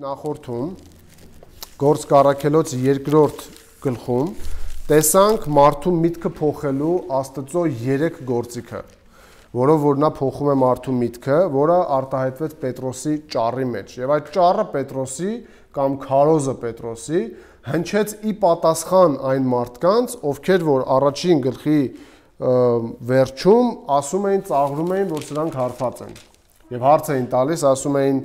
Նախորդում Գործք առաքելոց 2-րդ գլխում տեսանք մարդու միտքը փոխելու Աստծո 3 գործիքը, որով որ նա փոխում է մարդու միտքը, որը արտահայտվեց Պետրոսի ճառի մեջ։ Եվ այդ ճառը Պետրոսի կամ քարոզը Պետրոսի հնչեց ի պատասխան այն մարդկանց, ովքեր որ առաջին գլխի վերջում ասում էին, ծաղրում էին, որ սրանք հարբած են։ Եվ հարց էին տալիս, ասում էին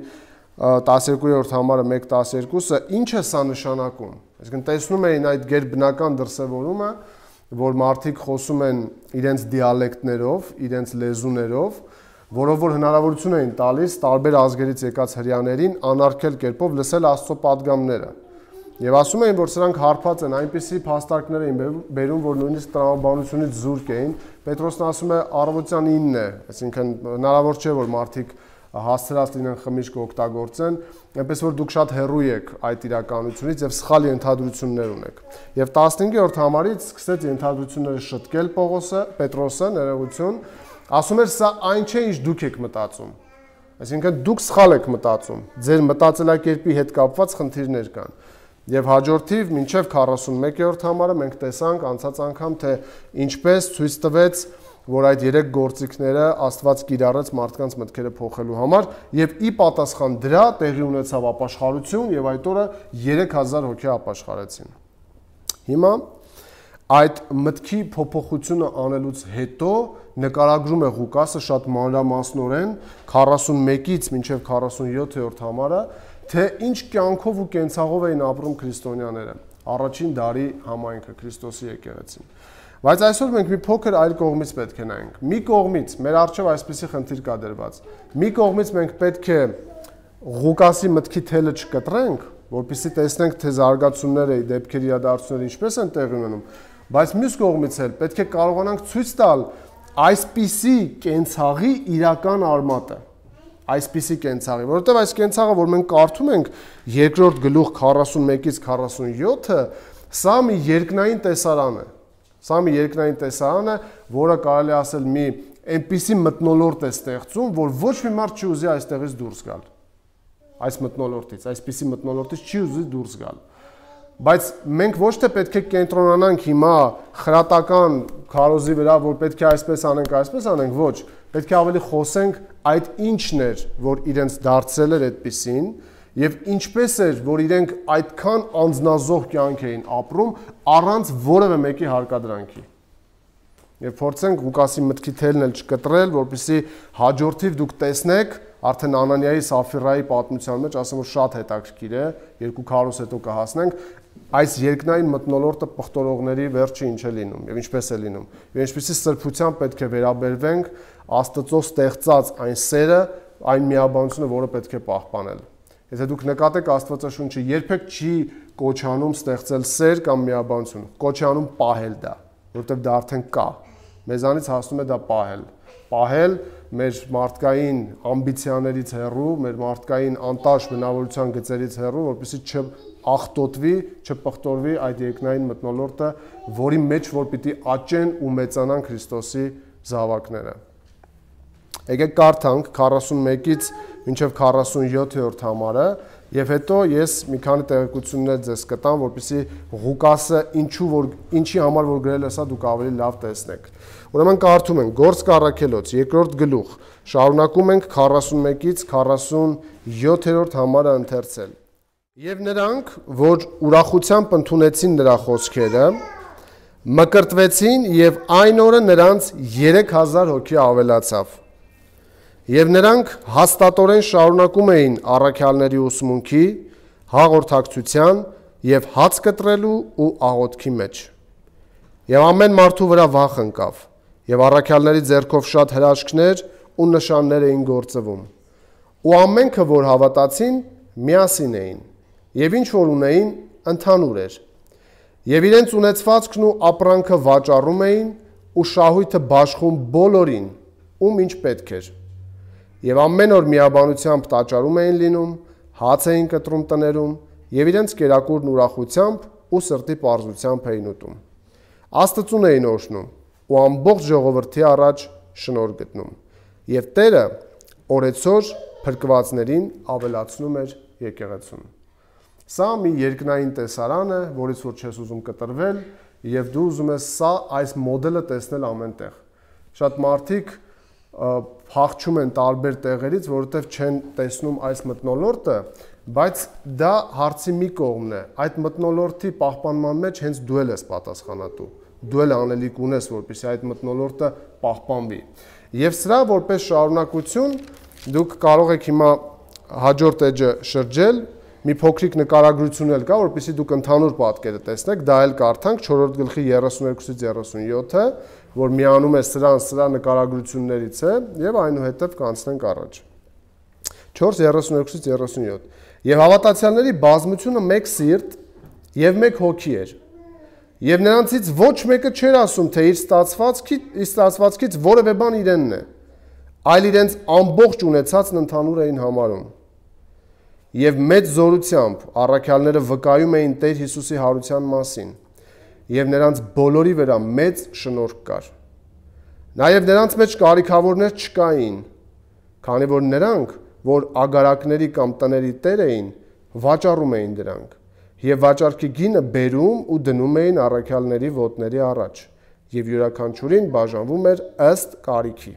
12-րդ համարը 1:12-ը ինչ է սա նշանակում։ Այսինքն տեսնում էին այդ գերբնական դրսևորումը, որ մարդիկ խոսում են իրենց դիալեկտներով, իրենց լեզուներով, որով որ հնարավորություն էին տալիս տարբեր ազգերից եկած հրեաներին անարգել կերպով լսել Աստծո պատգամները։ Եվ ասում էին, որ սրանք հարբած են, այնպիսի փաստարկներ էին բերում, որ նույնիսկ տրամաբանությունից զուրկ էին։ Պետրոսն ասում է առավոտյան 9-ն է, այսինքն հնարավոր չէ, որ մարդիկ հասցրած լինեն խմիչք օգտագործեն, այնպես որ դուք շատ հեռու եք այդ իրականությունից եւ սխալ ենթադրություններ ունեք։ Եվ 15-րդ համարից սկսեց ենթադրությունները շտկել Պետրոսը, ներողություն, ասում էր սա այն չէ, ինչ դուք եք մտածում։ Այսինքն դուք սխալ եք մտածում, ձեր մտածելակերպի հետ կապված խնդիրներ կան։ Եվ հաջորդիվ մինչև 41-րդ համարը մենք տեսանք անցած անգամ, թե ինչպես ցույց տվեց, որ այդ 3 գործիքները Աստված կիրառեց մարդկանց մտքերը փոխելու համար եւ ի պատասխան դրա տեղի ունեցավ ապաշխարություն եւ այդ օրը 3000 հոգի ապաշխարեցին։ Հիմա այդ մտքի փոփոխությունը անելուց հետո նկարագրում է Ղուկասը շատ մանրամասնորեն 41-ից մինչև 47-րդ համարը, թե ինչ կյանքով ու կենցաղով էին ապրում քրիստոնյաները, առաջին դարի համայնքը, Քրիստոսի եկեղեցին։ Բայց այսօր մենք մի փոքր այլ կողմից պետք է նայենք։ Մի կողմից մեր առջև այսպիսի խնդիր կա դրված։ Մի կողմից մենք պետք է Ղուկասի մտքի թելը չկտրենք, որպեսզի տեսնենք, թե զարգացումները, դեպքերի իրադարձությունները ինչպես են տեղի ունենում, բայց մյուս կողմից էլ պետք է կարողանանք ցույց տալ այսպիսի կենցաղի իրական արմատը, այսպիսի կենցաղի, որովհետև այս կենցաղը, որ մենք կարդում ենք 2-րդ գլուխ 41-ից 47-ը, սա մի երկնային տեսարան է։ Սա մի երկնային տեսարան է, որը կարելի ասել մի այնպիսի մթնոլորտ է ստեղծում, որ ոչ մի մարդ չի ուզի այստեղից դուրս գալ։ Այս մթնոլորտից, այսպիսի մթնոլորտից չի ուզի դուրս գալ։ Բայց մենք ոչ թե պետք է կենտրոնանանք հիմա խրատական քարոզի վրա, որ պետք է այսպես անենք, ոչ, պետք է ավելի խոսենք այդ ինչն էր, որ իրենց դարձել էր այդպիսին, եւ ինչպես էր, որ իրենք այդքան անձնազոհ կյանք էին ապրում առանց որևէ մեկի հարկադրանքի։ Եվ փորձենք Ղուկասի մտքի թելն էլ չկտրել, որպեսզի հաջորդիվ դուք տեսնեք, արդեն Անանիայի Սաֆիրայի պատմության մեջ ասեմ, որ շատ հետաքրքիր է, 2 քարոզ հետո կհասնենք, այս երկնային մթնոլորտը պղտորողների վերջը ինչ է լինում եւ ինչպես է լինում։ Եվ ինչպեսի սրբությամբ պետք է վերաբերվենք Աստծո ստեղծած այն սերը, այն միաբանությունը, որը պետք է պահպանել։ Եթե դուք նկատեք Աստվածաշունչը երբեք չի կոչանում ստեղծել սեր կամ միաբանություն, կոչանում պահել դա, որովհետև դա արդեն կա։ Մեզանից հասնում է դա պահել։ Պահել մեր մարդկային ամբիցիաներից հեռու, մեր մարդկային անտաշ բնավորության գծերից հեռու, որպեսզի չախտոտվի, չպղտորվի այդ երկնային մթնոլորտը, որի մեջ որ պիտի աճեն ու մեծանան Քրիստոսի զավակները։ Եկեք կարդանք 41-ից մինչև 47-րդ համարը եւ հետո ես մի քանի տեղեկություններ ձեզ կտամ, որպեսզի Ղուկասը ինչի համար որ գրել է սա դուք ավելի լավ տեսնեք։ Ուրեմն կարդում ենք Գործք առաքելոց 2-րդ գլուխ, շարունակում ենք 41-ից 47-րդ համարը ընթերցել։ Եվ նրանք, որ ուրախությամբ ընդունեցին նրա խոսքերը, մկրտվեցին եւ այն օրը նրանց 3000 հոգի ավելացավ։ Եվ նրանք հաստատորեն շարունակում էին առաքյալների ուսմունքի, հաղորդակցության եւ հաց կտրելու ու աղոթքի մեջ։ Եվ ամեն մարդու վրա վախ ընկավ, եւ առաքյալների ձեռքով շատ հրաշքներ ու նշաններ էին գործվում։ Ու ամենքը, որ հավատացին, միասին էին, եւ ինչ որ ունեին, ընդհանուր էր։ Եվ իրենց ունեցվածքն ու ապրանքը վաճառում էին ու շահույթը բաշխում բոլորին, ում ինչ պետք էր։ Եվ ամեն օր միաբանությամբ տաճարում էին լինում, հաց էին կտրում տներում, եւ իրենց կերակուրն ուրախությամբ ու սրտի պարզությամբ էին ուտում։ Աստծուն էին օրհնում ու ամբողջ ժողովրդի առաջ շնորհ գտնում։ Եվ Տերը օրեցօր փրկվածներին ավելացնում էր եկեղեցուն։ Սա մի երկնային տեսարան է, որից որ չես ուզում կտրվել, եւ դու ուզում ես սա այս մոդելը տեսնել ամենտեղ։ Շատ մարդիկ փախչում են տարբեր տեղերից, որովհետև չեն տեսնում այս մթնոլորտը, բայց դա հարցի մի կողմն է։ Այդ մթնոլորտի պահպանման մեջ հենց դու ես պատասխանատու։ Դու էլ անելիք ունես, որպեսզի այդ մթնոլորտը պահպանվի։ Եվ սրա որպես շարունակություն դուք կարող եք հիմա հաջորդ էջը շրջել, մի փոքրիկ նկարագրություն էլ կա, որպեսզի դուք ընդհանուր պատկերը տեսնեք, դա էլ կարդանք 4-րդ գլխի 32-ից 37-ը, որ միանում է սրա նկարագրություններից է, եւ այնուհետև կանցնենք առաջ։ 4:32-ից 37։ Եվ հավատացյալների բազմությունը մեկ սիրտ եւ մեկ հոգի էր։ Եվ նրանցից ոչ մեկը չէր ասում, թե իր ստացվածքից որևէ բան իրենն է, այլ իրենց ամբողջ ունեցածն ընդհանուր էին համարում։ Եվ մեծ զորությամբ առաքյալները վկայում էին Տեր Հիսուսի հարության մասին, եւ նրանց բոլորի վրա մեծ շնորհք կար։ Նաեւ նրանց մեջ կարիքավորներ չկային, քանի որ նրանք, որ ագարակների կամ տների տեր էին, վաճառում էին դրանք, եւ վաճառքի գինը բերում ու դնում էին առաքյալների ոտների առաջ, եւ յուրաքանչյուրին բաժանվում էր ըստ կարիքի։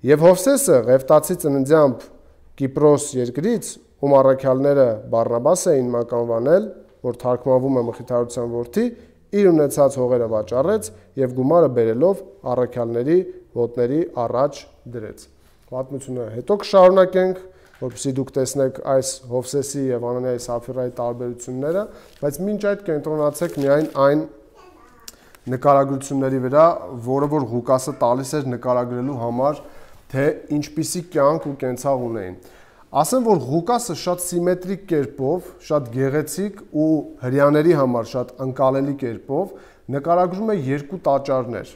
Եվ Հովսեսը Ղևտացի ծննդյամբ Կիպրոս երկրից, ում առաքյալները Բարնաբաս էին մականվանել, որ թարգմանվում է Մխիթարության որդի, իր ունեցած հողերը վաճառեց եւ գումարը բերելով առաքյալների ոտների առաջ դրեց։ Պատմությունը հետո կշարունակենք, որպեսզի դուք տեսնեք այս Հովսեսի եւ Անանիայի Սափիրայի տարբերությունները, բայց մինչ այդ կենտրոնացեք միայն այն նկարագրությունների վրա, որը որ Ղուկասը տալիս էր նկարագրելու համար, թե ինչպիսի կյանք ու կենցաղ ունեին։ Ասեմ, որ Ղուկասը շատ սիմետրիկ կերպով, շատ գեղեցիկ ու հрьяաների համար շատ ընկալելի կերպով նկարագրում է երկու տաճարներ,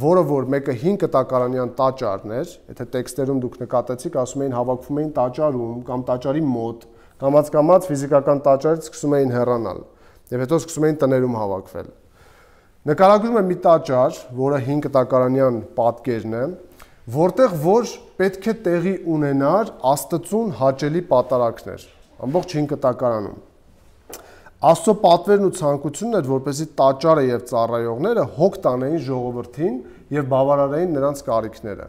որը որ մեկը 5 տակարանյան տաճարն էր, եթե տեքստերում դուք նկատեցիք, ասում էին հավաքվում էին տաճարում կամ տաճարի մոտ, կամաց ֆիզիկական տաճարից սկսում էին հեռանալ, եւ հետո սկսում էին տներում հավաքվել։ Նկարագրում է մի տաճար, որը 5 տակարանյան պատկերն է, որտեղ որ պետք է տեղի ունենար Աստծուն հաճելի պատարակներ, ամբողջ 5 տակարանում։ Աստծո պատվերն ու ցանկությունն էր, որպեսզի տաճարը եւ ծառայողները հոգ տանեին ժողովրդին եւ բավարարեին նրանց կարիքները։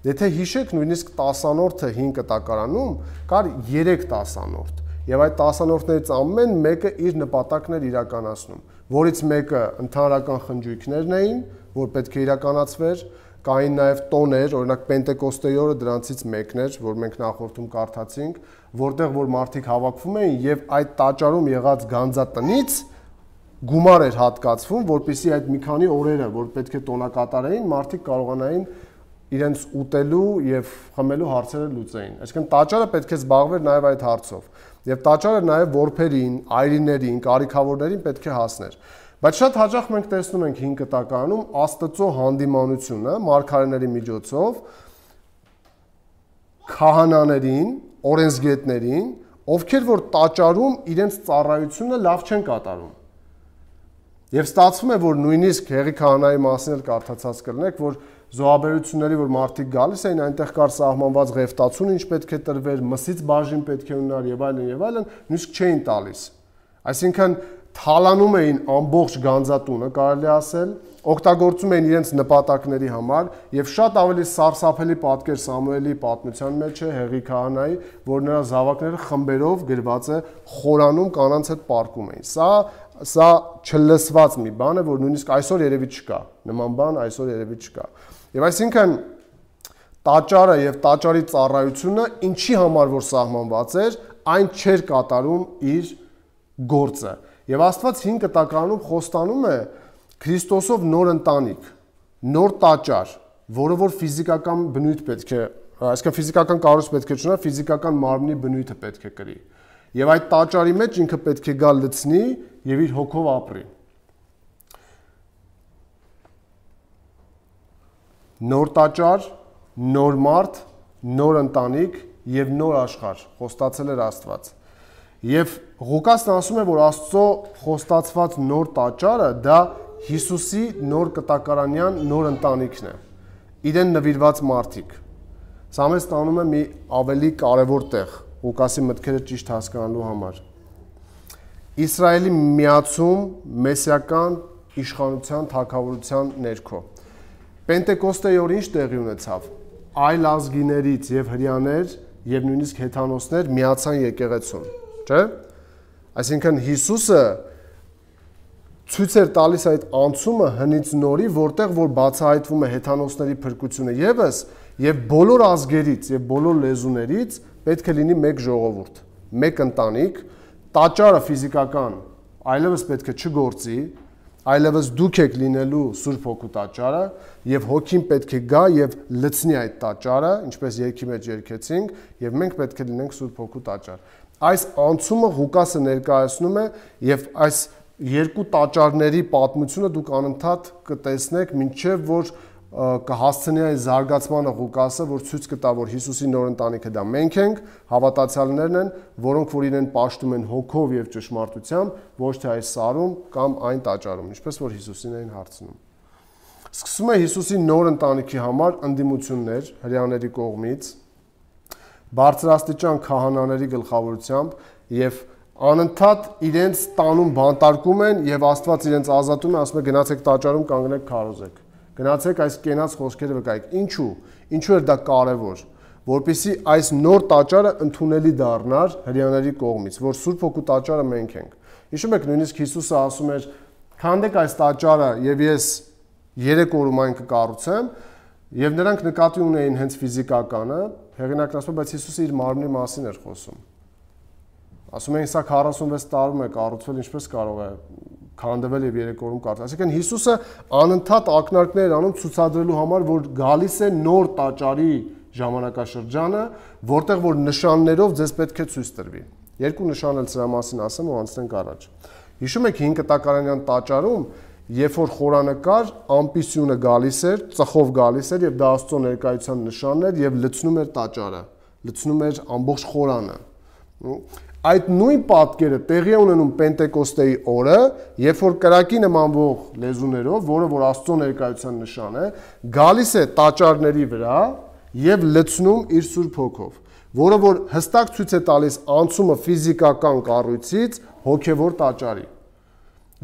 Եթե հիշեք, նույնիսկ 10-րդը 5 տակարանում կար 3 10-րդ, եւ այդ 10-րդներից ամեն մեկը իր նպատակն էր իրականացնում, որից մեկը ընդհանրական խնջույքներն էին, որ պետք է իրականացվեր, կային նաև տոներ, օրինակ Պենտեկոստեի օրը դրանցից մեկն էր, որ մենք նախորդում կարդացինք, որտեղ որ մարդիկ հավաքվում էին եւ այդ տաճարում եղած գանձատնից գումար էր հատկացվում, որպեսզի այդ մի քանի օրերը, որ պետք է տոնակատարեին, մարդիկ կարողանային իրենց ուտելու եւ խմելու հարցերը լուծեին։ Այսինքն տաճարը պետք է զբաղվեր նաև այդ հարցով։ Եվ տաճարը նաև որբերին, այրիներին, կարիքավորներին պետք է հասներ։ Բայց շատ հաճախ մենք տեսնում ենք 5 տակարանում Աստծո հանդիմանությունը մարգարեների միջոցով քահանաներին, օրենսգետներին, ովքեր որ տաճարում իրենց ծառայությունը լավ չեն կատարում։ Եվ ստացվում է, որ նույնիսկ Հեղի քահանայի մասին էլ կարդացած կլինեք, որ զոհաբերությունների, որ մարդիկ գալիս էին, այնտեղ կար սահմանված ղևտացուն, ինչ պետք է տրվեր, մսից բաժին պետք է ունենար եւ այլն, նույնիսկ չէին տալիս։ Այսինքն թալանում էին ամբողջ գանձատունը, կարելի ասել, օգտագործում էին իրենց նպատակների համար եւ շատ ավելի սարսափելի պատկեր Սամուելի պատմության մեջ է Հեղի քահանայի, որ նրա զավակները խմբերով գրված է խորանում կանանց հետ պարկում էին։ Սա չլսված մի բան է, որ նույնիսկ այսօր երևի չկա, նման բան այսօր երևի չկա։ Եվ այսինքն տաճարը եւ տաճարի ծառայությունը ինչի համար որ սահմանված էր, այն չէր կատարում իր գործը։ Եվ Աստված 5 տակարանում խոստանում է Քրիստոսով նոր ընտանիք, նոր տաճար, որը որ ֆիզիկական բնույթ պետք է, այսինքն ֆիզիկական կառույց պետք է ունենա, ֆիզիկական մարմնի բնույթը պետք է կրի։ Եվ այդ տաճարի մեջ ինքը պետք է գա լցնի եւ իր հոգով ապրի։ Նոր տաճար, նոր մարդ, նոր ընտանիք եւ նոր աշխարհ խոստացել էր Աստված։ Եվ Ղուկասն ասում է, որ Աստծո խոստացված նոր տաճարը դա Հիսուսի նոր կտակարանյան նոր ընտանիքն է։ Իրեն նվիրված մարդիկ։ Սա մեզ տանում է մի ավելի կարևոր տեղ Ղուկասի մտքերը ճիշտ հասկանալու համար։ Իսրայելի միացում մեսիական իշխանության թագավորության ներքո։ Պենտեկոստեի օր ինչ տեղի ունեցավ։ Այլ ազգիներից եւ հրեաներ եւ նույնիսկ հեթանոսներ միացան եկեղեցուն, չէ՞։ Այսինքն Հիսուսը ցույց էր տալիս այդ անցումը հնից նորի, որտեղ որ բացահայտվում է հեթանոսների փրկությունը եւս եւ բոլոր ազգերից եւ բոլոր լեզուներից պետք է լինի մեկ ժողովուրդ, մեկ ընտանիք, տաճարը ֆիզիկական այլևս պետք է չգործի, այլևս դուք եք լինելու Սուրբ Հոգու տաճարը եւ Հոգին պետք է գա եւ լցնի այդ տաճարը, ինչպես երգի մեջ երգեցինք, եւ մենք պետք է լինենք Սուրբ Հոգու տաճար։ Այս անցումը Ղուկասը ներկայացնում է եւ այս երկու տաճարների պատմությունը դուք անընդհատ կտեսնեք, մինչեւ որ կհասցնի այն զարգացմանը Ղուկասը, որ ցույց կտա, որ Հիսուսի նոր ընտանիքը դա մենք ենք, հավատացյալներն են, որոնք որ իրեն պաշտում են հոգով եւ ճշմարտությամբ, ոչ թե այս սարում կամ այն տաճարում, ինչպես որ Հիսուսին էին հարցնում։ Սկսում է Հիսուսի նոր ընտանիքի համար ընդդիմություններ հրեաների կողմից, բարձրաստիճան քահանաների գլխավորությամբ եւ անընդհատ իրենց տանում բանտարկում են եւ Աստված իրենց ազատում է, ասում է գնացեք տաճարում կանգնեք քարոզեք։ Գնացեք այս կենաց խոսքերը վկայեք։ Ինչու էր դա կարևոր, որպեսզի այս նոր տաճարը ընդունելի դառնար հրեաների կողմից, որ Սուրբ Հոգու տաճարը մենք ենք։ Հիշում եք, նույնիսկ Հիսուսը ասում էր. «Քանդեք այս տաճարը եւ ես 3 օրում այն կկառուցեմ», եւ նրանք նկատի ունեին հենց ֆիզիկականը, հեղինակն ասում է, բայց Հիսուսը իր մարմնի մասին էր խոսում։ Ասում էին, սա 46 տարում է կառուցվել, ինչպես կարող է քանդվել եւ 3 օրում կառուցվել։ Այսինքն Հիսուսը անընդհատ ակնարկներ էր անում ցուցադրելու համար, որ գալիս է նոր տաճարի ժամանակաշրջանը, որտեղ որ նշաններով ձեզ պետք է ցույց տրվի։ Երկու նշան էլ սրա մասին ասեմ ու անցնենք առաջ։ Հիշում եք 5 կտակարանյան տաճարում, երբ որ խորանկար ամպիսյունը գալիս էր, ծխով գալիս էր եւ դա Աստծո ներկայության նշանն էր եւ լցնում էր տաճարը, լցնում էր ամբողջ խորանը։ Այդ նույն պատկերը տեղի է ունենում Պենտեկոստեի օրը, երբ որ կրակի նմանվող լեզուներով, որը որ Աստծո ներկայության նշան է, գալիս է տաճարների վրա եւ լցնում իր Սուրբ Հոգով, որը որ հստակ ցույց է տալիս անցումը ֆիզիկական կառույցից հոգեվոր տաճարի,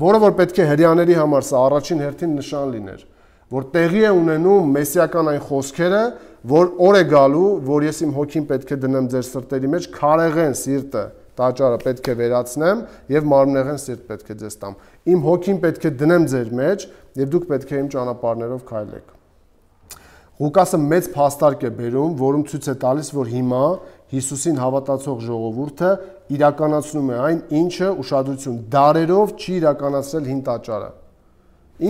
որը որ պետք է հրեաների համար սա առաջին հերթին նշան լիներ, որ տեղի է ունենում մեսիական այն խոսքերը, որ օր է գալու, որ ես իմ հոգին պետք է դնեմ ձեր սրտերի մեջ, քարեղեն սիրտը տաճարը պետք է վերացնեմ եւ մարմնեղեն սիրտ պետք է ձեզ տամ։ Իմ հոգին պետք է դնեմ ձեր մեջ եւ դուք պետք է իմ ճանապարհներով քայլեք։ Ղուկասը մեծ փաստարկ է բերում, որում ցույց է տալիս, որ հիմա Հիսուսին հավատացող ժողովուրդը իրականացնում է այն, ինչը ուշադրություն դարերով չի իրականացրել հին տաճարը։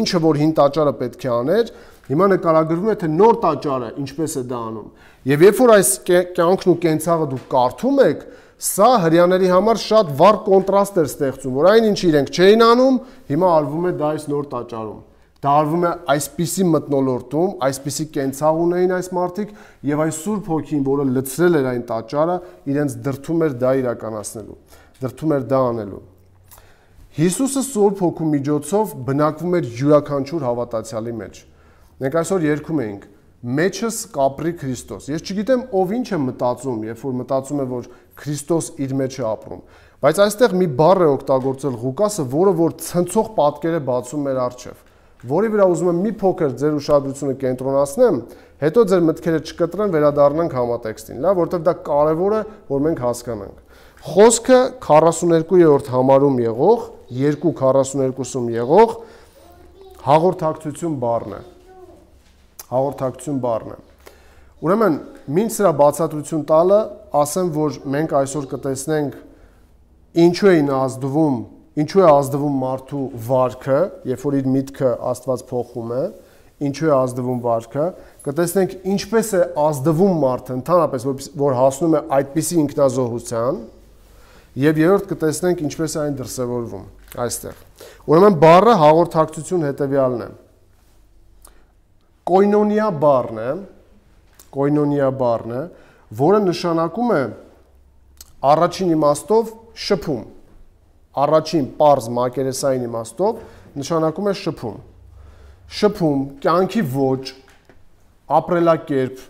Ինչը որ հին տաճարը պետք է աներ, հիմա նկարագրվում է, թե նոր տաճարը ինչպես է դա անում։ Եվ երբ որ այս կյանքն ու կենցաղը դուք կարդում եք, սա հրեաների համար շատ վառ կոնտրաստ էր ստեղծում, որ այն ինչ իրենք չէին անում, հիմա արվում է դա այս նոր տաճարում։ Դա արվում է այսպիսի մթնոլորտում, այսպիսի կենցաղ ունեին այս մարդիկ եւ այս Սուրբ Հոգին, որը լցրել էր այն տաճարը, իրենց դրթում էր դա իրականացնելու, դրթում էր դա անելու։ Հիսուսը Սուրբ Հոգու միջոցով բնակվում էր յուրաքանչյուր հավատացյալի մեջ։ Մենք այսօր երգում էինք. «Մեջս կապրի Քրիստոս»։ Ես չգիտեմ ով ինչ է մտածում, երբ որ մտածում է, որ Քրիստոս իր մեջ է ապրում, բայց այստեղ մի բառ է օգտագործել Ղուկասը, որը որ ցնցող պատկեր է բացում մեր առջև, որի վրա ուզում եմ մի փոքր ձեր ուշադրությունը կենտրոնացնեմ, հետո ձեր մտքերը չկտրեն, վերադառնանք համատեքստին, լավ, որովհետև դա կարևոր է, որ մենք հասկանանք։ Խոսքը 42-րդ համարում եղող, 2:42-ում եղող հաղորդակցություն բառն է։ Հաղորդակցություն բառն է։ Ուրեմն, մինչ սրա բացատրություն տալը, ասեմ, որ մենք այսօր կտեսնենք ինչու էին ազդվում, Ինչու է ազդվում մարդու վարքը, երբ որ իր միտքը Աստված փոխում է, ինչու է ազդվում վարքը, կտեսնենք ինչպես է ազդվում մարդը ընդհանրապես, որ հասնում է այդպիսի ինքնազոհության, եւ երրորդ կտեսնենք ինչպես է այն դրսևորվում այստեղ։ Ուրեմն բառը հաղորդակցություն հետեւյալն է։ Կոյնոնիա բառն է, որը նշանակում է առաջին իմաստով շփում։ Առաջին պարզ մակերեսային իմաստով նշանակում է շփում։ Շփում, կյանքի ոճ, ապրելակերպ։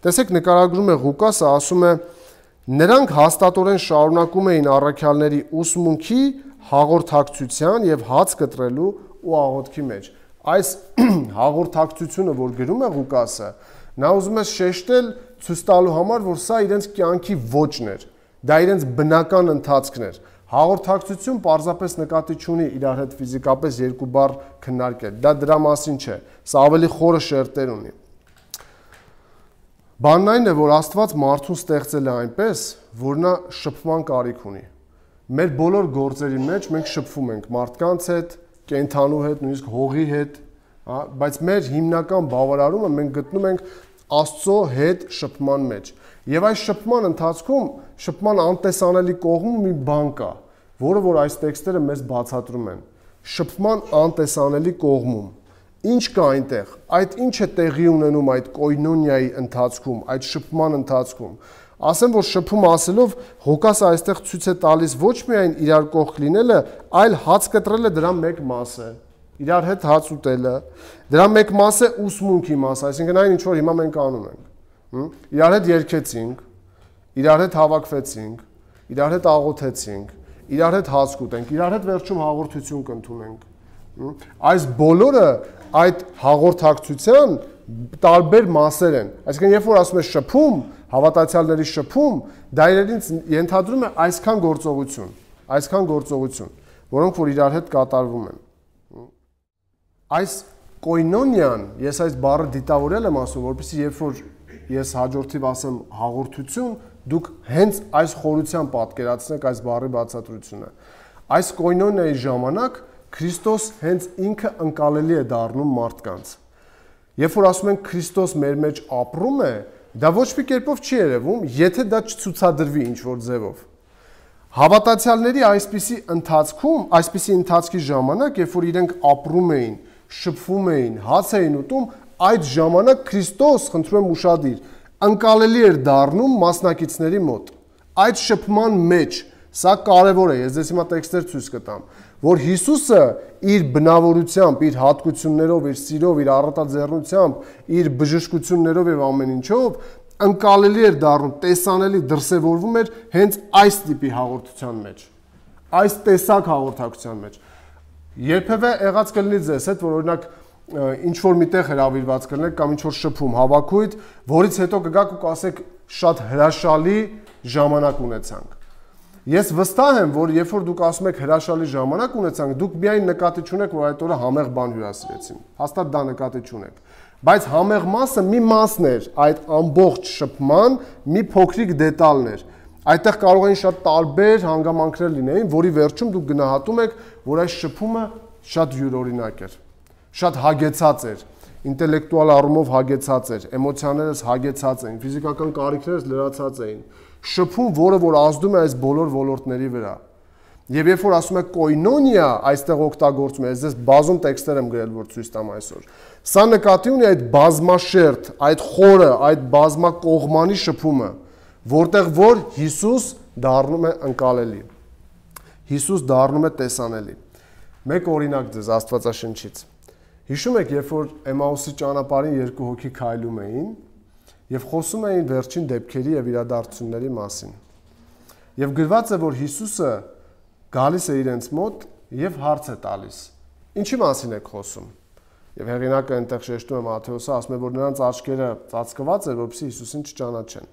Տեսեք, նկարագրում է Ղուկասը, ասում է. նրանք հաստատորեն շարունակում էին առաքյալների ուսմունքի, հաղորդակցության եւ հաց կտրելու ու աղոթքի մեջ։ Այս հաղորդակցությունը, որ գրում է Ղուկասը, նա ուզում է շեշտել, ցույց տալու համար, որ սա իրենց կյանքի ոճն էր, դա իրենց բնական ընթացքն էր։ Հաղորդակցություն պարզապես նկատի չունի իրար հետ ֆիզիկապես երկու բառ քննարկել, դա դրա մասին չէ, սա ավելի խորը շերտեր ունի։ Բանն այն է, որ Աստված մարդուն ստեղծել է այնպես, որ նա շփման կարիք ունի։ Մեր բոլոր գործերի մեջ մենք շփվում ենք մարդկանց հետ, կենդանու հետ, նույնիսկ հողի հետ, բայց մեր հիմնական բավարարումը մենք գտնում ենք Աստծո հետ շփման մեջ։ Եվ այս շփման ընթացքում, շփման անտեսանելի կողմում մի բան կա, որը որ այս տեքստերը մեզ բացատրում են։ Շփման անտեսանելի կողմում ինչ կա այնտեղ, այդ ինչ է տեղի ունենում այդ կոյնոնիայի ընթացքում, այդ շփման ընթացքում։ Ասեմ, որ շփում ասելով Ղուկասը այստեղ ցույց է տալիս ոչ միայն իրար կողք լինելը, այլ հաց կտրելը դրա մեկ մաս է։ Իրար հետ հաց ուտելը, դրա մեկ մաս է ուսմունքի մասը, այսինքն այն ինչ որ հիմա մենք անում ենք։ Իրար հետ երգեցինք, իրար հետ հավաքվեցինք, իրար հետ աղոթեցինք, իրար հետ հաց կուտենք, իրար հետ վերջում հաղորդություն կընդունենք։ Այս բոլորը այդ հաղորդակցության տարբեր մասեր են։ Այսինքն երբ որ ասում է շփում, հավատացյալների շփում, դա իրենից ենթադրում է այսքան գործողություն, որոնք որ իրար հետ կատարվում են։ Այս կոյնոնիան, ես այս բառը դիտավորել եմ ասում, որպեսզի երբ որ ես հաջորդիվ ասեմ հաղորդություն, դուք հենց այս խորությամբ պատկերացնեք այս բառի բացատրությունը։ Այս կոյնոնիայի ժամանակ Քրիստոս հենց ինքը ընկալելի է դառնում մարդկանց։ Երբ որ ասում ենք Քրիստոս մեր մեջ ապրում է, դա ոչ մի կերպով չի երևում, եթե դա չցուցադրվի ինչ-որ ձևով։ Հավատացյալների այսպիսի ընթացքի ժամանակ, երբ որ իրենք ապրում էին, շփվում էին, հաց էին ուտում, այդ ժամանակ Քրիստոս, խնդրում եմ ուշադիր, ընկալելի էր դառնում մասնակիցների մոտ։ Այդ շփման մեջ, սա կարևոր է, ես ձեզ հիմա տեքստեր ցույց կտամ, որ Հիսուսը իր բնավորությամբ, իր հատկություններով, իր սիրով, իր առատաձեռնությամբ, իր բժշկություններով եւ ամեն ինչով ընկալելի էր դառնում, տեսանելի դրսևորվում էր հենց այս տիպի հաղորդության մեջ, այս տեսակ հաղորդակցության մեջ։ Երբևէ եղած կլինի ձեզ հետ, որ օրինակ ինչ որ միտեղ հրավիրված կլինեք կամ ինչ որ շփում, հավաքույթ, որից հետո կգաք ու կասեք շատ հրաշալի ժամանակ ունեցանք։ Ես վստահ եմ, որ երբ որ դուք ասում եք հրաշալի ժամանակ ունեցանք, դուք միայն նկատի չունեք, որ այդ օրը համեղ բան հյուրասիրեցին։ Հաստատ դա նկատի չունեք։ Բայց համեղ մասը մի մասն էր այդ ամբողջ շփման մի փոքրիկ դետալն էր։ Այդտեղ կարող էին շատ տարբեր հանգամանքներ լինեին, որի վերջում դուք գնահատում եք, որ այս շփումը շատ յուրօրինակ էր, շատ հագեցած էր, ինտելեկտուալ առումով հագեցած էր, էմոցիաներս հագեցած էին, ֆիզիկական կարիքներս լրացած էին։ Շփում, որը որ ազդում է այս բոլոր ոլորտների վրա։ Եվ երբ որ ասում է կոյնոնիա, այստեղ օգտագործում է, ես ձեզ բազում տեքստեր եմ գրել, որ ցույց տամ այսօր։ Սա նկատի ունի այդ բազմաշերտ, այդ խորը, այդ բազմակողմանի շփումը, որտեղ որ Հիսուս դառնում է ընկալելի։ Հիսուս դառնում է տեսանելի։ Մեկ օրինակ ձեզ Աստվածաշնչից։ Հիշում եք, երբ որ Էմաուսի ճանապարհին երկու հոգի քայլում էին եւ խոսում էին վերջին դեպքերի եւ իրադարձությունների մասին։ Եվ գրված է, որ Հիսուսը գալիս է իրենց մոտ եւ հարց է տալիս. Ինչի մասին եք խոսում։ Եվ հեղինակը այնտեղ շեշտում է Մատթեոսը, ասում է, որ նրանց աչքերը ծածկված էր, որպեսզի Հիսուսին չճանաչեն։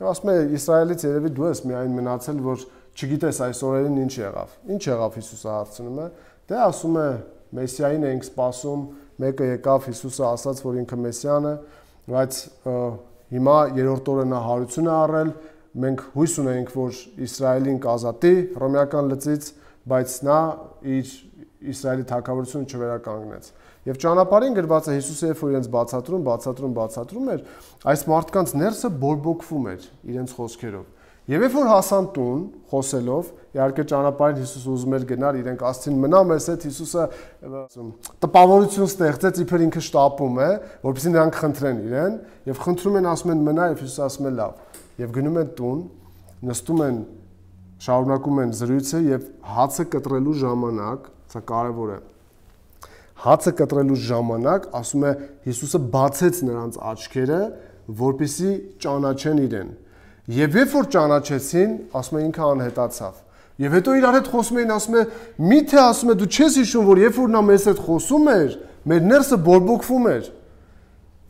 Եվ ասում է, Իսրայելից երևի դու ես միայն մնացել, որ չգիտես այս օրերին ինչ եղավ։ Ինչ եղավ, Հիսուսը հարցնում է։ Դե ասում է, Մեսիային էինք սպասում, մեկը եկավ, Հիսուսը ասաց, որ ինքը Մեսիան է, բայց հիմա երրորդ օրը նա հարություն է առել, մենք հույս ունենք, որ Իսրայելին կազատի հռոմեական լծից, բայց նա իր Իսրայելի թագավորությունը չվերականգնեց։ Եվ ճանապարհին գրված է Հիսուսը երբ որ իրենց բացատրում էր, այս մարդկանց ներսը բորբոքվում էր իրենց խոսքերով։ Եվ երբ որ հասան տուն, խոսելով, իհարկե ճանապարհին Հիսուսը ուզում էր գնալ, իրենք ասցին մնա մեզ հետ, Հիսուսը տպավորություն ստեղծեց, իբր ինքը շտապում է, որպեսզի նրանք խնդրեն իրեն, եւ խնդրում են, ասում են մնա, եւ Հիսուսը ասում է լավ։ Եվ գնում են տուն, նստում են, շարունակում են զրույցը եւ հացը կտրելու ժամանակ, սա կարեւոր է։ Հացը կտրելու ժամանակ, ասում է Հիսուսը բացեց նրանց աչքերը, որպեսզի ճանաչեն իրեն։ Եվ երբ որ ճանաչեցին, ասում է ինքը անհետացավ։ Եվ հետո իրար հետ խոսում էին, ասում է միթե ասում է դու չես հիշում, որ երբ որ նա մեզ հետ խոսում էր, մեր ներսը բորբոքվում էր։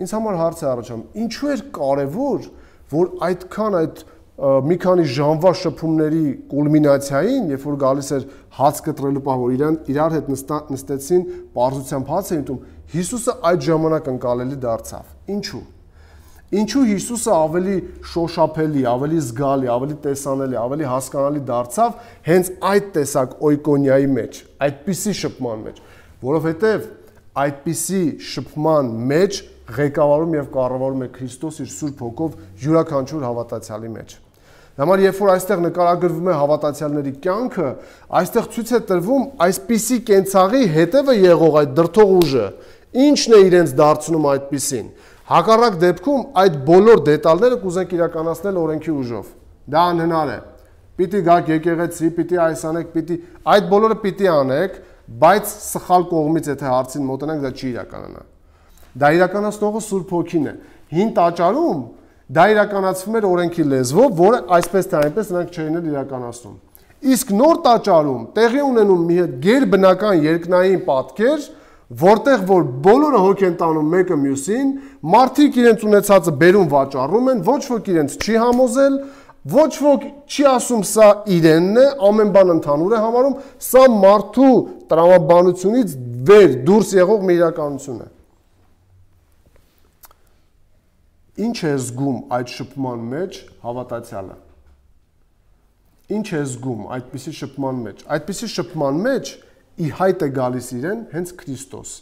Ինձ համար հարց է առաջանում, ինչու էր կարևոր, որ այդքան այդ մի քանի ժամվա շփումների կուլմինացիային, երբ որ գալիս էր հաց կտրելու պահ, որ իրար հետ նստեցին, պարզությամբ հաց էին ուտում, Հիսուսը այդ ժամանակ ընկալելի դարձավ։ Ինչու։ Ինչու Հիսուսը ավելի շոշափելի, ավելի զգալի, ավելի տեսանելի, ավելի հասկանալի դարձավ հենց այդ տեսակ օյկոնիայի մեջ, այդպիսի շփման մեջ, որովհետև այդպիսի շփման մեջ ղեկավարում եւ կառավարում է Քրիստոս իր Սուրբ Հոգով յուրաքանչյուր հավատացյալի մեջ։ Համար երբ որ այստեղ նկարագրվում է հավատացյալների կյանքը, այստեղ ցույց է տրվում այսպիսի կենցաղի հետևը եղող այդ դրթող ուժը, ինչն է իրենց դարձնում այդպիսին։ Հակառակ դեպքում այդ բոլոր դետալները կուզենք իրականացնել օրենքի ուժով։ Դա անհնար է։ Պիտի գաք եկեղեցի, պիտի այս անեք, պիտի այդ բոլորը պիտի անեք, բայց սխալ կողմից եթե հարցին մոտենանք, դա չի իրականանա։ Դա իրականացնողը Սուրբ Հոգին է։ Հին տաճարում դա իրականացվում էր օրենքի լեզվով, որը այսպես թե այնպես նրանք չէին իրականացնում։ Իսկ նոր տաճարում տեղի ունենում մի գերբնական երկնային պատկեր, որտեղ որ բոլորը հոգ են տանում մեկը մյուսին, մարդիկ իրենց ունեցածը բերում վաճառում են, ոչ ոք իրենց չի համոզել, ոչ ոք չի ասում սա իրենն է, ամեն բան ընդհանուր է համարում, սա մարդու տրամաբանությունից վեր դուրս եղող մի իրականություն է։ Ինչ է զգում այդ շփման մեջ հավատացյալը։ Ինչ է զգում այդպիսի շփման մեջ։ Այդպիսի շփման մեջ ի հայտ է գալիս իրեն հենց Քրիստոս,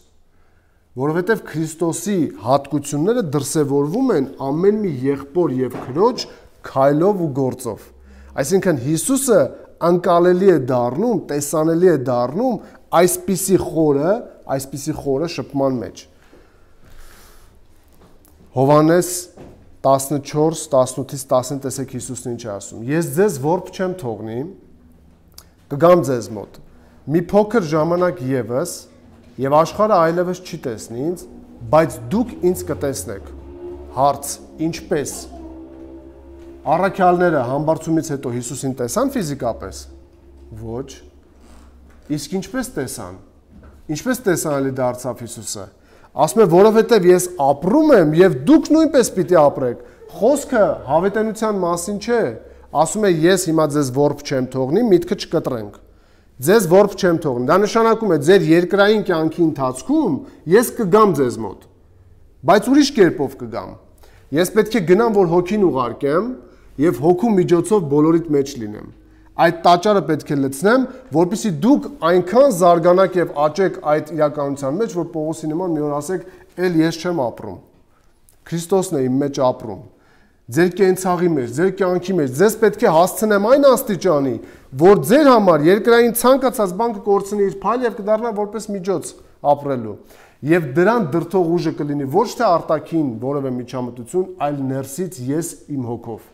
որովհետև Քրիստոսի հատկությունները դրսևորվում են ամեն մի եղբոր եւ քրոջ քայլով ու գործով։ Այսինքն Հիսուսը անկալելի է դառնում, տեսանելի է դառնում այսպիսի խորը շփման մեջ։ Հովհաննես 14:18-ից 19 տեսեք Հիսուսն ինչ է ասում։ Ես ձեզ որբ չեմ թողնի, կգամ ձեզ մոտ։ Մի փոքր ժամանակ ևս, եւ աշխարհը այլևս չի տեսնի ինձ, բայց դուք ինձ կտեսնեք։ Հարց. ինչպես։ Առաքյալները համբարձումից հետո Հիսուսին տեսան ֆիզիկապես։ Ոչ։ Իսկ ինչպես տեսան։ Ինչպես տեսանելի դարձավ Հիսուսը։ Ասում է, որովհետև ես ապրում եմ եւ դուք նույնպես պիտի ապրեք։ Խոսքը հավիտենության մասին չէ։ Ասում է, ես հիմա ձեզ որբ չեմ թողնի, միտքը չկտրենք։ Ձեզ որբ չեմ թողնի։ Դա նշանակում է ձեր երկրային կյանքի ընթացքում ես կգամ ձեզ մոտ, բայց ուրիշ կերպով կգամ։ Ես պետք է գնամ, որ հոգին ուղարկեմ եւ հոգու միջոցով բոլորիդ մեջ լինեմ։ Այդ տաճարը պետք է լցնեմ, որպեսզի դուք այնքան զարգանաք եւ աճեք այդ իրականության մեջ, որ Պողոսի նման մի օր ասեք, «Էլ ես չեմ ապրում»։ Քրիստոսն է իմ մեջ ապրում։ Ձեր կենցաղի մեջ, ձեր կյանքի մեջ ձեզ պետք է հասցնեմ այն աստիճանի, որ ձեր համար երկրային ցանկացած բան կկորցնի իր փայլ եւ կդառնա որպես միջոց ապրելու։ Եվ դրան դրթող ուժը կլինի ոչ թե արտաքին որևէ միջամտություն, այլ ներսից ես իմ հոգով,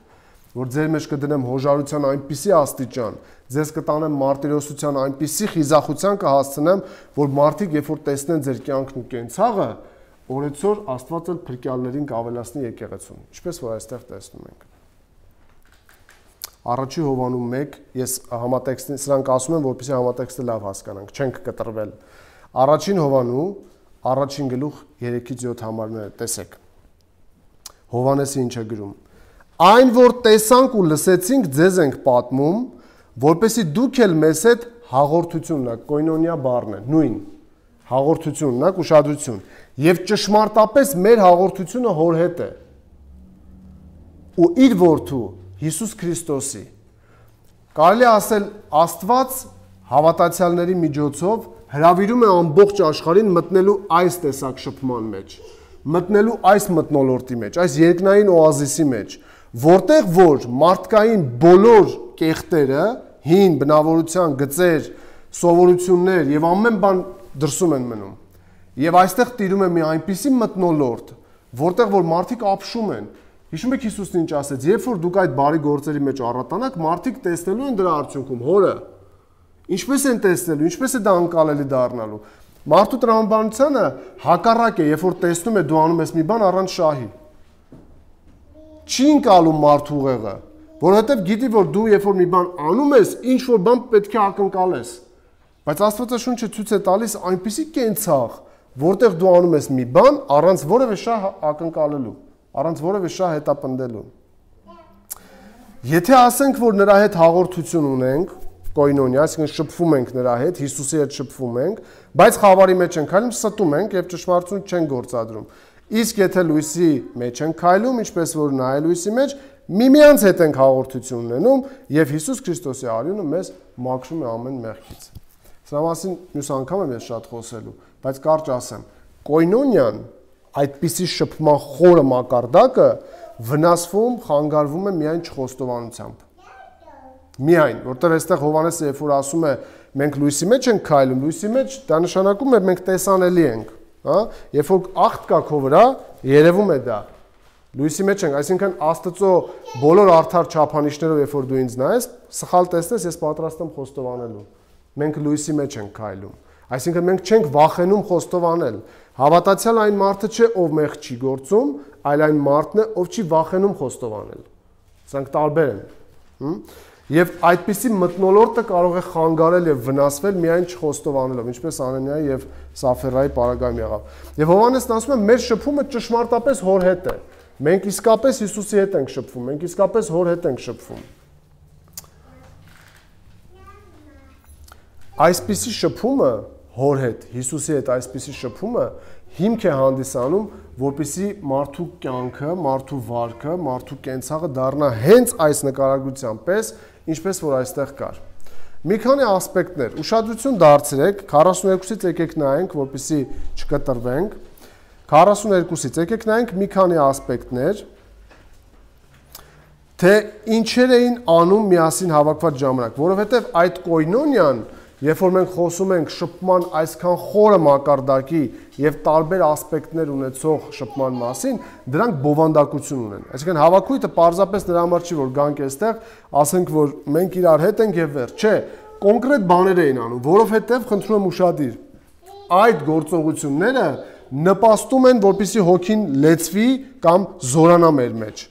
որ ձեր մեջ կդնեմ հոժարության այնպիսի աստիճան, ձեզ կտանեմ մարտիրոսության այնպիսի խիզախության կհասցնեմ, որ մարդիկ երբ որ տեսնեն ձեր կյանքն ու կենցաղը, օրեցօր Աստված էլ փրկյալներին կավելացնի եկեղեցուն, ինչպես որ այստեղ տեսնում ենք։ Առաջի Հովանու 1, ես համատեքստին սրանք ասում եմ, որպեսզի համատեքստը լավ հասկանանք, չենք կտրվել։ Առաջին Հովանու, առաջին գլուխ 3-ից 7 համարները տեսեք։ Հովանեսը ինչ է գրում։ Այն, որ տեսանք ու լսեցինք, ձեզ ենք պատմում, որպեսզի դուք էլ մեզ հետ հաղորդություն ունեք, կոյնոնիա բառն է, նույն հաղորդություն ունեք, ուշադրություն, եւ ճշմարտապես մեր հաղորդությունը հոր հետ է։ Ու իր որդու Հիսուս Քրիստոսի։ Կարելի ասել Աստված հավատացյալների միջոցով հրավիրում է ամբողջ աշխարհին մտնելու այս տեսակ շփման մեջ, մտնելու այս մթնոլորտի մեջ, այս երկնային օազիսի մեջ, որտեղ որ մարդկային բոլոր կեղտերը, հին բնավորության գծեր, սովորություններ եւ ամեն բան դրսում են մնում։ Եվ այստեղ տիրում է մի այնպիսի մթնոլորտ, որտեղ որ մարդիկ ապշում են։ Հիշում եք Հիսուսն ինչ ասեց, երբ որ դուք այդ բարի գործերի մեջ առատանաք, մարդիկ տեսնելու են դրա արդյունքում հորը։ Ինչպես են տեսնելու, ինչպես է դա անկալելի դառնալու։ Մարդու տրամաբանությունը հակառակ է, երբ որ տեսնում է դու անում ես մի բան առանց շահի։ Չի ընկալում մարդու ուղեղը, որովհետև գիտի, որ դու երբ որ մի բան անում ես, ինչ որ բան պետք է ակնկալես։ Բայց Աստվածաշունչը ցույց է տալիս այնպիսի կենցաղ, որտեղ դու անում ես մի բան առանց որևէ շահ ակնկալելու, առանց որևէ շահ հետապնդելու։ Եթե ասենք, որ նրա հետ հաղորդություն ունենք, կոյնոնիա, այսինքն շփվում ենք նրա հետ, Հիսուսի հետ շփվում ենք, բայց խավարի մեջ ենք քայլում, ստում ենք եւ ճշմարտություն չենք գործադրում։ Իսկ եթե լույսի մեջ ենք քայլում, ինչպես որ նա է լույսի մեջ, միմյանց հետ ենք հաղորդություն ունենում եւ Հիսուս Քրիստոսի արյունը մեզ մաքրում է ամեն մեղքից։ Սրա մասին մյուս անգամ եմ ես շատ խոսելու, բայց կարճ ասեմ, կոյնոնիան այդպիսի շփման խորը մակարդակը վնասվում, խանգարվում է միայն չխոստովանությամբ։ Միայն, որտեղ այստեղ Հովհաննեսը երբ որ ասում է մենք լույսի մեջ ենք քայլում, լույսի մեջ դա նշանակում է մենք տեսանելի ենք, հա? Երբ որ աղտ կա քո վրա, երևում է դա։ Լույսի մեջ ենք, այսինքն Աստծո բոլոր արդար չափանիշներով երբ որ դու ինձ նայես, սխալ տեսնես, ես պատրաստ եմ խոստովանելու։ Մենք լույսի մեջ ենք քայլում։ Այսինքն մենք չենք վախենում խոստովանել։ Հավատացյալ այն մարդը չէ, ով մեղք չի գործում, այլ այն մարդն է, ով չի վախենում խոստովանել։ Սրանք տարբեր են։ Եվ այդպիսի մթնոլորտը կարող է խանգարել եւ վնասվել միայն չխոստովանելով, ինչպես Անանիայի եւ Սաֆիրայի պարագայում եղավ։ Եվ Հովհաննեսն ասում է, մեր շփումը ճշմարտապես հոր հետ է։ Մենք իսկապես Հիսուսի հետ ենք շփվում, մենք իսկապես հոր հետ ենք շփվում։ Այսպիսի շփումը հոր հետ, Հիսուսի հետ այսպիսի շփումը հիմք է հանդիսանում, որպեսզի մարդու կյանքը, մարդու վարքը, մարդու կենցաղը դառնա հենց այս նկարագրության պես, ինչպես որ այստեղ կար։ Մի քանի ասպեկտներ, ուշադրություն դարձրեք, 42-ից եկեք նայենք, որպեսզի չկտրվենք։ 42-ից եկեք նայենք մի քանի ասպեկտներ, թե ինչեր էին անում միասին հավաքված ժամանակ, որովհետև այդ կոյնոնիան, երբ որ մենք խոսում ենք շփման այսքան խորը մակարդակի եւ տարբեր ասպեկտներ ունեցող շփման մասին, դրանք բովանդակություն ունեն։ Այսինքն հավաքույթը պարզապես նրա համար չի, որ գանք այստեղ, ասենք, որ մենք իրար հետ ենք եւ վերջ, չէ, կոնկրետ բաներ էին անում, որովհետեւ խնդրում եմ ուշադիր, այդ գործողությունները նպաստում են, որպեսզի հոգին լեցվի կամ զորանա մեր մեջ։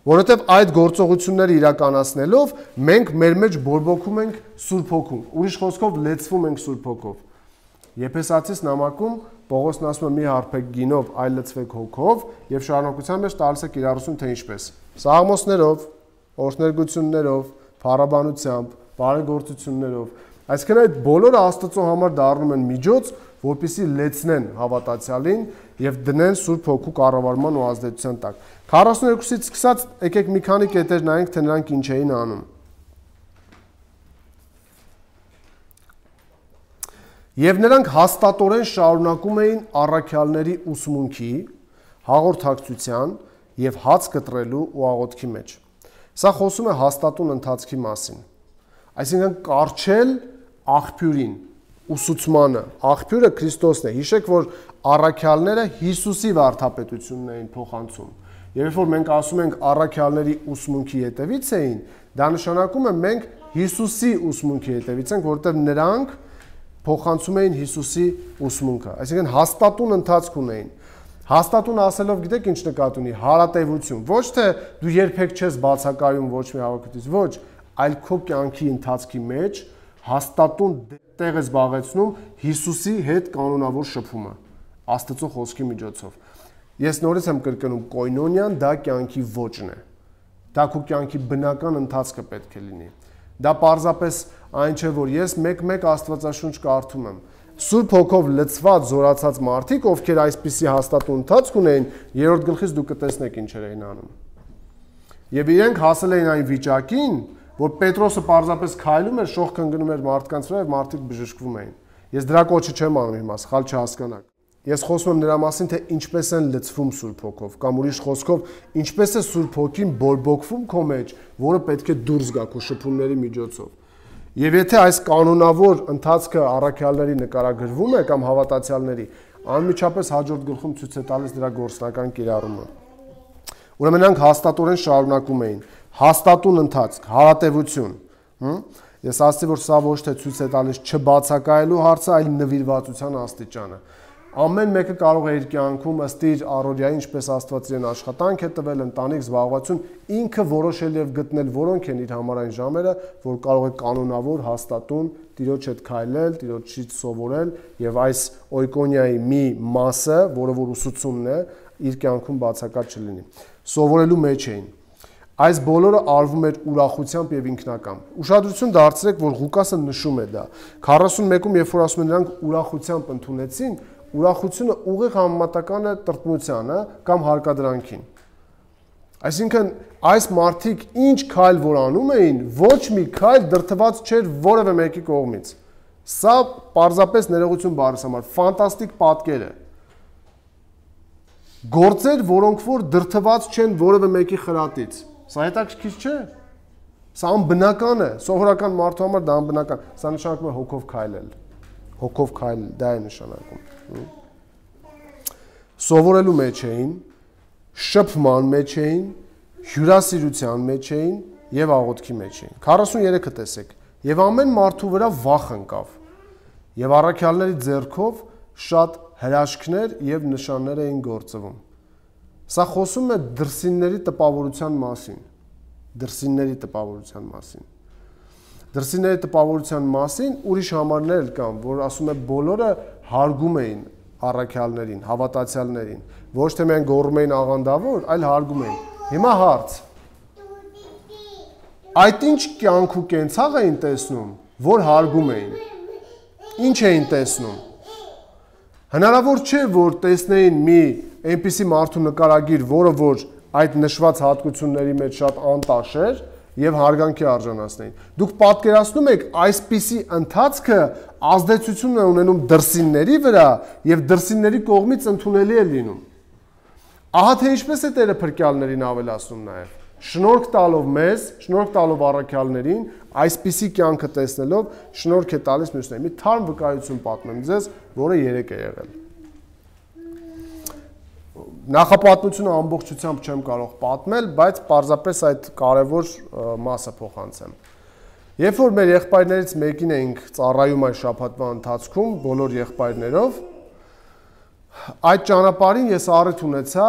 Որովհետև այդ գործողությունները իրականացնելով մենք մեր մեջ բորբոքում ենք Սուրբ Հոգում, ուրիշ խոսքով լեցվում ենք Սուրբ Հոգով։ Եփեսացիս նամակում Պողոսն ասում է մի հարբեք գինով, այլ լցվեք հոգով եւ շարունակության մեջ տալիս է կիրառություն թե ինչպես։ Սաղմոսներով, օրհներգություններով, փառաբանությամբ, բարեգործություններով։ Այսինքն այդ բոլորը Աստծո համար դառնում են միջոց, որպեսզի լեցնեն հավատացյալին եւ դնեն Սուրբ Հոգու կառավարման ու ազդեցության տակ։ 42-ից սկսած եկեք մի քանի կետեր նայենք, թե նրանք ինչ էին անում։ Եվ նրանք հաստատորեն շարունակում էին առաքյալների ուսմունքի, հաղորդակցության եւ հաց կտրելու ու աղոթքի մեջ։ Սա խոսում է հաստատուն ընթացքի մասին։ Այսինքն կարճել աղբյուրին, ուսուցմանը, աղբյուրը Քրիստոսն է։ Հիշեք, որ առաքյալները Հիսուսի վարդապետությունն էին փոխանցում։ Եվ երբ որ մենք ասում ենք առաքյալների ուսմունքի հետևից էին, դա նշանակում է մենք Հիսուսի ուսմունքի հետևից ենք, որովհետև նրանք փոխանցում էին Հիսուսի ուսմունքը։ Այսինքն հաստատուն ընթացք ունեին։ Հաստատուն ասելով գիտեք ինչ նկատի ունի, հարատևություն։ Ոչ թե դու երբեք չես բացակայում ոչ մի հավաքությունից, ոչ, այլ քո կյանքի ընթացքի մեջ հաստատուն տեղ ես զբաղեցնում Հիսուսի հետ կանոնավոր շփումը Աստծո խոսքի միջոցով։ Ես նորից եմ կրկնում, կոյնոնիան դա կյանքի ոճն է։ Դա քո կյանքի բնական ընթացքը պետք է լինի։ Դա պարզապես այն չէ, որ ես մեկ-մեկ Աստվածաշունչ կարդում եմ։ Սուրբ Հոգով լցված, զորացած մարդիկ, ովքեր այսպիսի հաստատուն ընթացք ունեին, 3-րդ գլխից դուք կտեսնեք ինչեր էին անում։ Եվ իրենք հասել էին այն վիճակին, որ Պետրոսը պարզապես քայլում էր, շողք ընկնում էր մարդկանց վրա եւ մարդիկ բժշկվում էին։ Ես դրա կոչը չեմ անում հիմա, սխալ չհասկանաք։ Ես խոսում եմ նրա մասին, թե ինչպես են լցվում Սուրբ Հոգով, կամ ուրիշ խոսքով, ինչպես է Սուրբ Հոգին բորբոքվում քո մեջ, որը պետք է դուրս գա քո շփումների միջոցով։ Եվ եթե այս կանոնավոր ընթացքը առաքյալների նկարագրվում է կամ հավատացյալների, անմիջապես հաջորդ գլխում ցույց է տալիս դրա գործնական կիրառումը։ Ուրեմն նրանք հաստատորեն շարունակում էին, հաստատուն ընթացք, հարատևություն։ Ես ասացի, որ սա ոչ թե ցույց է տալիս չբացակայելու հարցը, այլ նվիրվածության աստիճանը։ Ամեն մեկը կարող է իր կյանքում ըստ իր առօրյայի, ինչպես Աստված իրեն աշխատանք է տվել, ընտանիք, զբաղվածություն, ինքը որոշել եւ գտնել որոնք են իր համար այն ժամերը, որ կարող է կանոնավոր, հաստատուն Տիրոջ հետ քայլել, Տիրոջից սովորել եւ այս օյկոնիայի մի մասը, որը որ ուսուցումն է, իր կյանքում բացակայ չլինի։ Սովորելու մեջ էին։ Այս բոլորը արվում էր ուրախությամբ եւ ինքնակամ։ Ուշադրություն դարձրեք, որ Ղուկասը նշում է դա։ 41-ում, երբ որ ասում են նրանք ուրախությամբ ընդունեցին, ուրախությունը ուղիղ համեմատական է տրտմությանը կամ հարկադրանքին։ Այսինքն, այս մարդիկ ինչ քայլ որ անում էին, ոչ մի քայլ դրդված չէր որևէ մեկի կողմից։ Սա պարզապես ներողություն բառի համար ֆանտաստիկ պատկեր է։ Գործեր, որոնք որ դրդված չեն որևէ մեկի խրատից։ Սա հետաքրքիր չէ։ Սա անբնական է, սովորական մարդու համար դա անբնական։ Սա նշանակում է հոգով քայլել։ Հոգով քայլել, դա է նշանակում։ Սովորելու մեջ էին, շփման մեջ էին, հյուրասիրության մեջ էին եւ աղոթքի մեջ էին։ 43-ը տեսեք։ Եվ ամեն մարդու վրա վախ ընկավ։ Եվ առաքյալների ձեռքով շատ հրաշքներ եւ նշաններ էին գործվում։ Սա խոսում է դրսինների տպավորության մասին։ Դրսինների տպավորության մասին։ Դրսինների տպավորության մասին ուրիշ համարներ կան, որ ասում է բոլորը հարգում էին առաքյալներին, հավատացյալներին, ոչ թե միայն գոռում էին աղանդավոր, այլ հարգում էին։ Հիմա հարց. այդ ինչ կյանք ու կենցաղ էին տեսնում, որ հարգում էին։ Ինչ էին տեսնում։ Հնարավոր չէ, որ տեսնեին մի այնպիսի մարդու նկարագիր, որը որ այդ նշված հատկությունների մեջ շատ անտաշ էր եւ հարգանքի արժանացնեին։ Դուք պատկերացնում եք այսպիսի ընթացքը ազդեցություն է ունենում դրսինների վրա եւ դրսինների կողմից ընդունելի է լինում։ Ահա թե ինչպես է Տերը փրկյալներին ավելացնում նաեւ։ Շնորհք տալով մեզ, շնորհք տալով առաքյալներին, այսպիսի կյանքը տեսնելով շնորհք է տալիս մյուսներին։ Մի թարմ վկայություն պատմեմ ձեզ, որը 3 է եղել։ Նախապատմությունը ամբողջությամբ չեմ կարող պատմել, բայց պարզապես այդ կարևոր մասը փոխանցեմ։ Երբ որ մեր եղբայրներից մեկին էինք ծառայում այս շաբաթվա ընթացքում, բոլոր եղբայրներով, այդ ճանապարհին ես առիթ ունեցա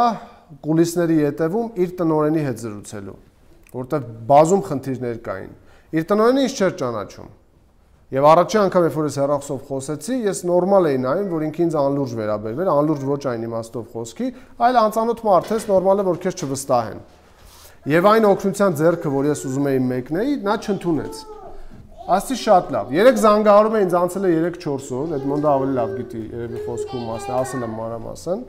կուլիսների ետևում իր տնօրենի հետ զրուցելու, որտեղ բազում խնդիրներ կային։ Իր տնօրենը ինձ չէր ճանաչում։ Եվ առաջի անգամ, երբ որ ես հեռախոսով խոսեցի, ես նորմալ էի նայում, որ ինքը ինձ անլուրջ վերաբերվեր, անլուրջ ոչ այն իմաստով խոսքի, այլ անծանոթ մարդ ես, նորմալ է, որ քեզ չվստահեն։ Եվ այն օգնության ձեռքը, որ ես ուզում էի մեկնեի, նա չընդունեց։ Ասի շատ լավ։ 3 զանգահարում է ինձ անցել է 3-4 օր, այդ մոնդը ավելի լավ գիտի, երևի խոսքում մասն, ասել եմ մանրամասն։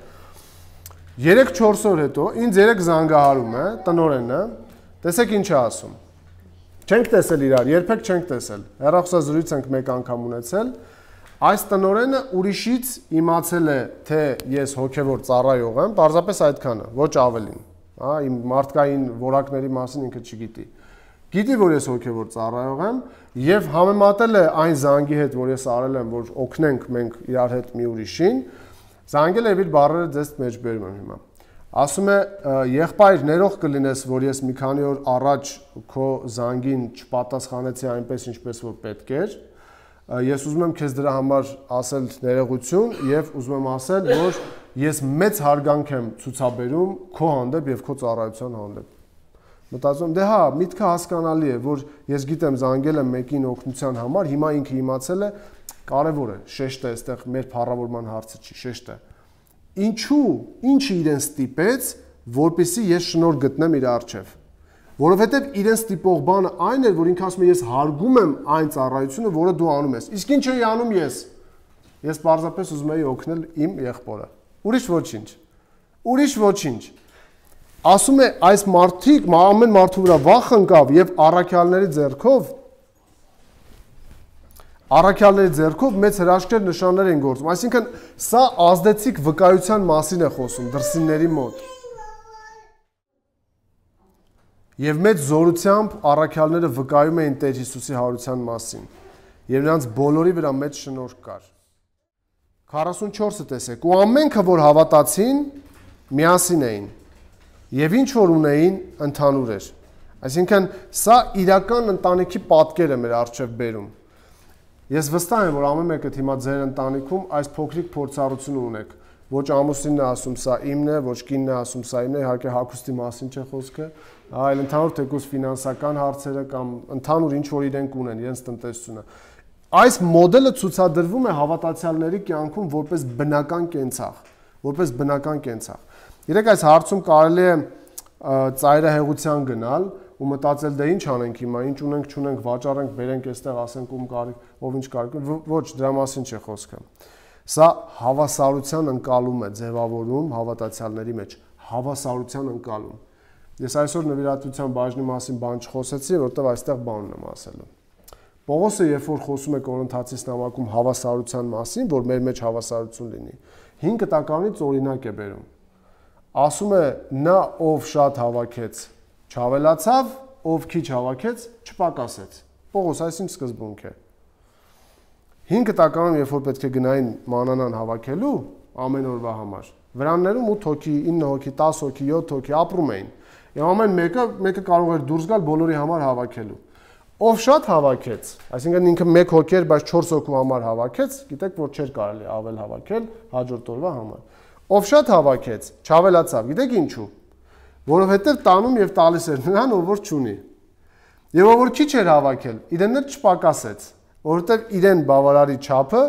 3-4 օր հետո ինձ 3 զանգահարում է տնօրենը, տեսեք ինչ է ասում։ Չենք տեսել իրար, երբեք չենք տեսել։ Հեռախոսազրույց ենք մեկ անգամ ունեցել։ Այս տնօրենը ուրիշից իմացել է, թե ես հոգևոր ծառայող եմ, պարզապես այդքանը, ոչ ավելին։ Հա, իմ մարդկային որակների մասին ինքը չգիտի։ Գիտի, որ ես հոգևոր ծառայող եմ եւ համեմատել է այն զանգի հետ, որ ես արել եմ, որ օգնենք մենք իրար հետ մի ուրիշին, զանգել է իր բառերը ձեզ մեջ բերում եմ հիմա։ Ասում է, եղբայր, ներող կլինես, որ ես մի քանի օր առաջ քո զանգին չպատասխանեցի այնպես, ինչպես որ պետք էր։ Ես ուզում եմ քեզ դրա համար ասել ներողություն եւ ուզում եմ ասել, որ ես մեծ հարգանք եմ ցուցաբերում քո հանդեպ եւ քո ծառայության հանդեպ։ Մտածում եմ, դե հա, միտքը հասկանալի է, որ ես գիտեմ զանգել եմ մեկին օգնության համար, հիմա ինքը իմացել է, կարեւոր է, շեշտը այստեղ մեր փառավորման հարցը չի, շեշտը։ Ինչու, ինչը իրեն ստիպեց, որպեսզի ես շնորհ գտնեմ իր առջև։ Որովհետև իրեն ստիպող բանը այն էր, որ ինքը ասում է ես հարգում եմ այն ծառայությունը, որը դու անում ես։ Իսկ ինչ էի անում ես։ Ես պարզապես ուզում էի օգնել իմ եղբորը։ Ուրիշ ոչինչ։ Ուրիշ ոչինչ։ ասում է այս մարդիկ ամեն մարդու վրա վախ ընկավ եւ առաքյալների ձեռքով մեծ հրաշքներ նշաններ են գործում։ Այսինքն սա ազդեցիկ վկայության մասին է խոսում դրսինների մոտ։ Եվ մեծ զորությամբ առաքյալները վկայում էին Տեր Հիսուսի հարության մասին։ Եվ նրանց բոլորի վրա մեծ շնորհք կար։ 44-ը տեսեք, ու ամենքը որ հավատացին, միասին էին։ Եվ ինչ որ ունեին, ընդհանուր էր։ Այսինքն սա իրական ընտանիքի պատկեր է մեր առջև բերում։ Ես վստահ եմ, որ ամեն մեկը հիմա ձեր ընտանիքում այս փոքրիկ փորձառությունը ունեք։ Ոչ ամուսինն է ասում սա իմն է, ոչ կինն է ասում սա իմն է, իհարկե հագուստի մասին չէ խոսքը, այլ ընդհանուր թեկուզ ֆինանսական հարցերը կամ ընդհանուր ինչ որ իրենք ունեն, իրենց տնտեսությունը։ Այս մոդելը ցուցադրվում է հավատացյալների կյանքում որպես բնական կենցաղ։ Երեք այս հարցում կարելի է ծայրահեղության գնալ ու մտածել դե ինչ անենք հիմա, ինչ ունենք, չունենք, վաճառենք, բերենք այստեղ, ասենք ում կարիք, ով ինչ կարիք, ոչ, դրա մասին չէ խոսքը։ Սա հավասարության ընկալում է ձևավորում հավատացյալների մեջ, հավասարության ընկալում։ Ես այսօր նվիրատվության բաժնի մասին բան չխոսեցի, որովհետև այստեղ բանն եմ ասելու։ Պողոսը երբ որ խոսում է Կորինթացիս նամակում հավասարության մասին, որ մեր մեջ հավասարություն լինի, 5 տականից օրինակ է բերում։ Ասում է նա ով շատ հավաքեց, չավելացավ, ով քիչ հավաքեց, չպակասեց։ Պողոս այսինչ սկզբունք է։ 5 տականում երբ որ պետք է գնային մանանան հավաքելու ամեն օրվա համար, վրաններում 8 հոգի, 9 հոգի, 10 հոգի, 7 հոգի ապրում էին։ Եվ ամեն մեկը կարող էր դուրս գալ բոլորի համար հավաքելու։ Ով շատ հավաքեց, այսինքն ինքը 1 հոգի էր, բայց 4 հոգու համար հավաքեց, գիտեք որ չէր կարելի ավել հավաքել հաջորդ օրվա համար։ Ով շատ հավաքեց, չավելացավ, գիտեք ինչու։ Որովհետև տանում եւ տալիս էր նրան, ով որ չունի։ Եվ ով որ քիչ էր հավաքել, իրեն էլ չպակասեց, որովհետև իրեն բավարարի չափը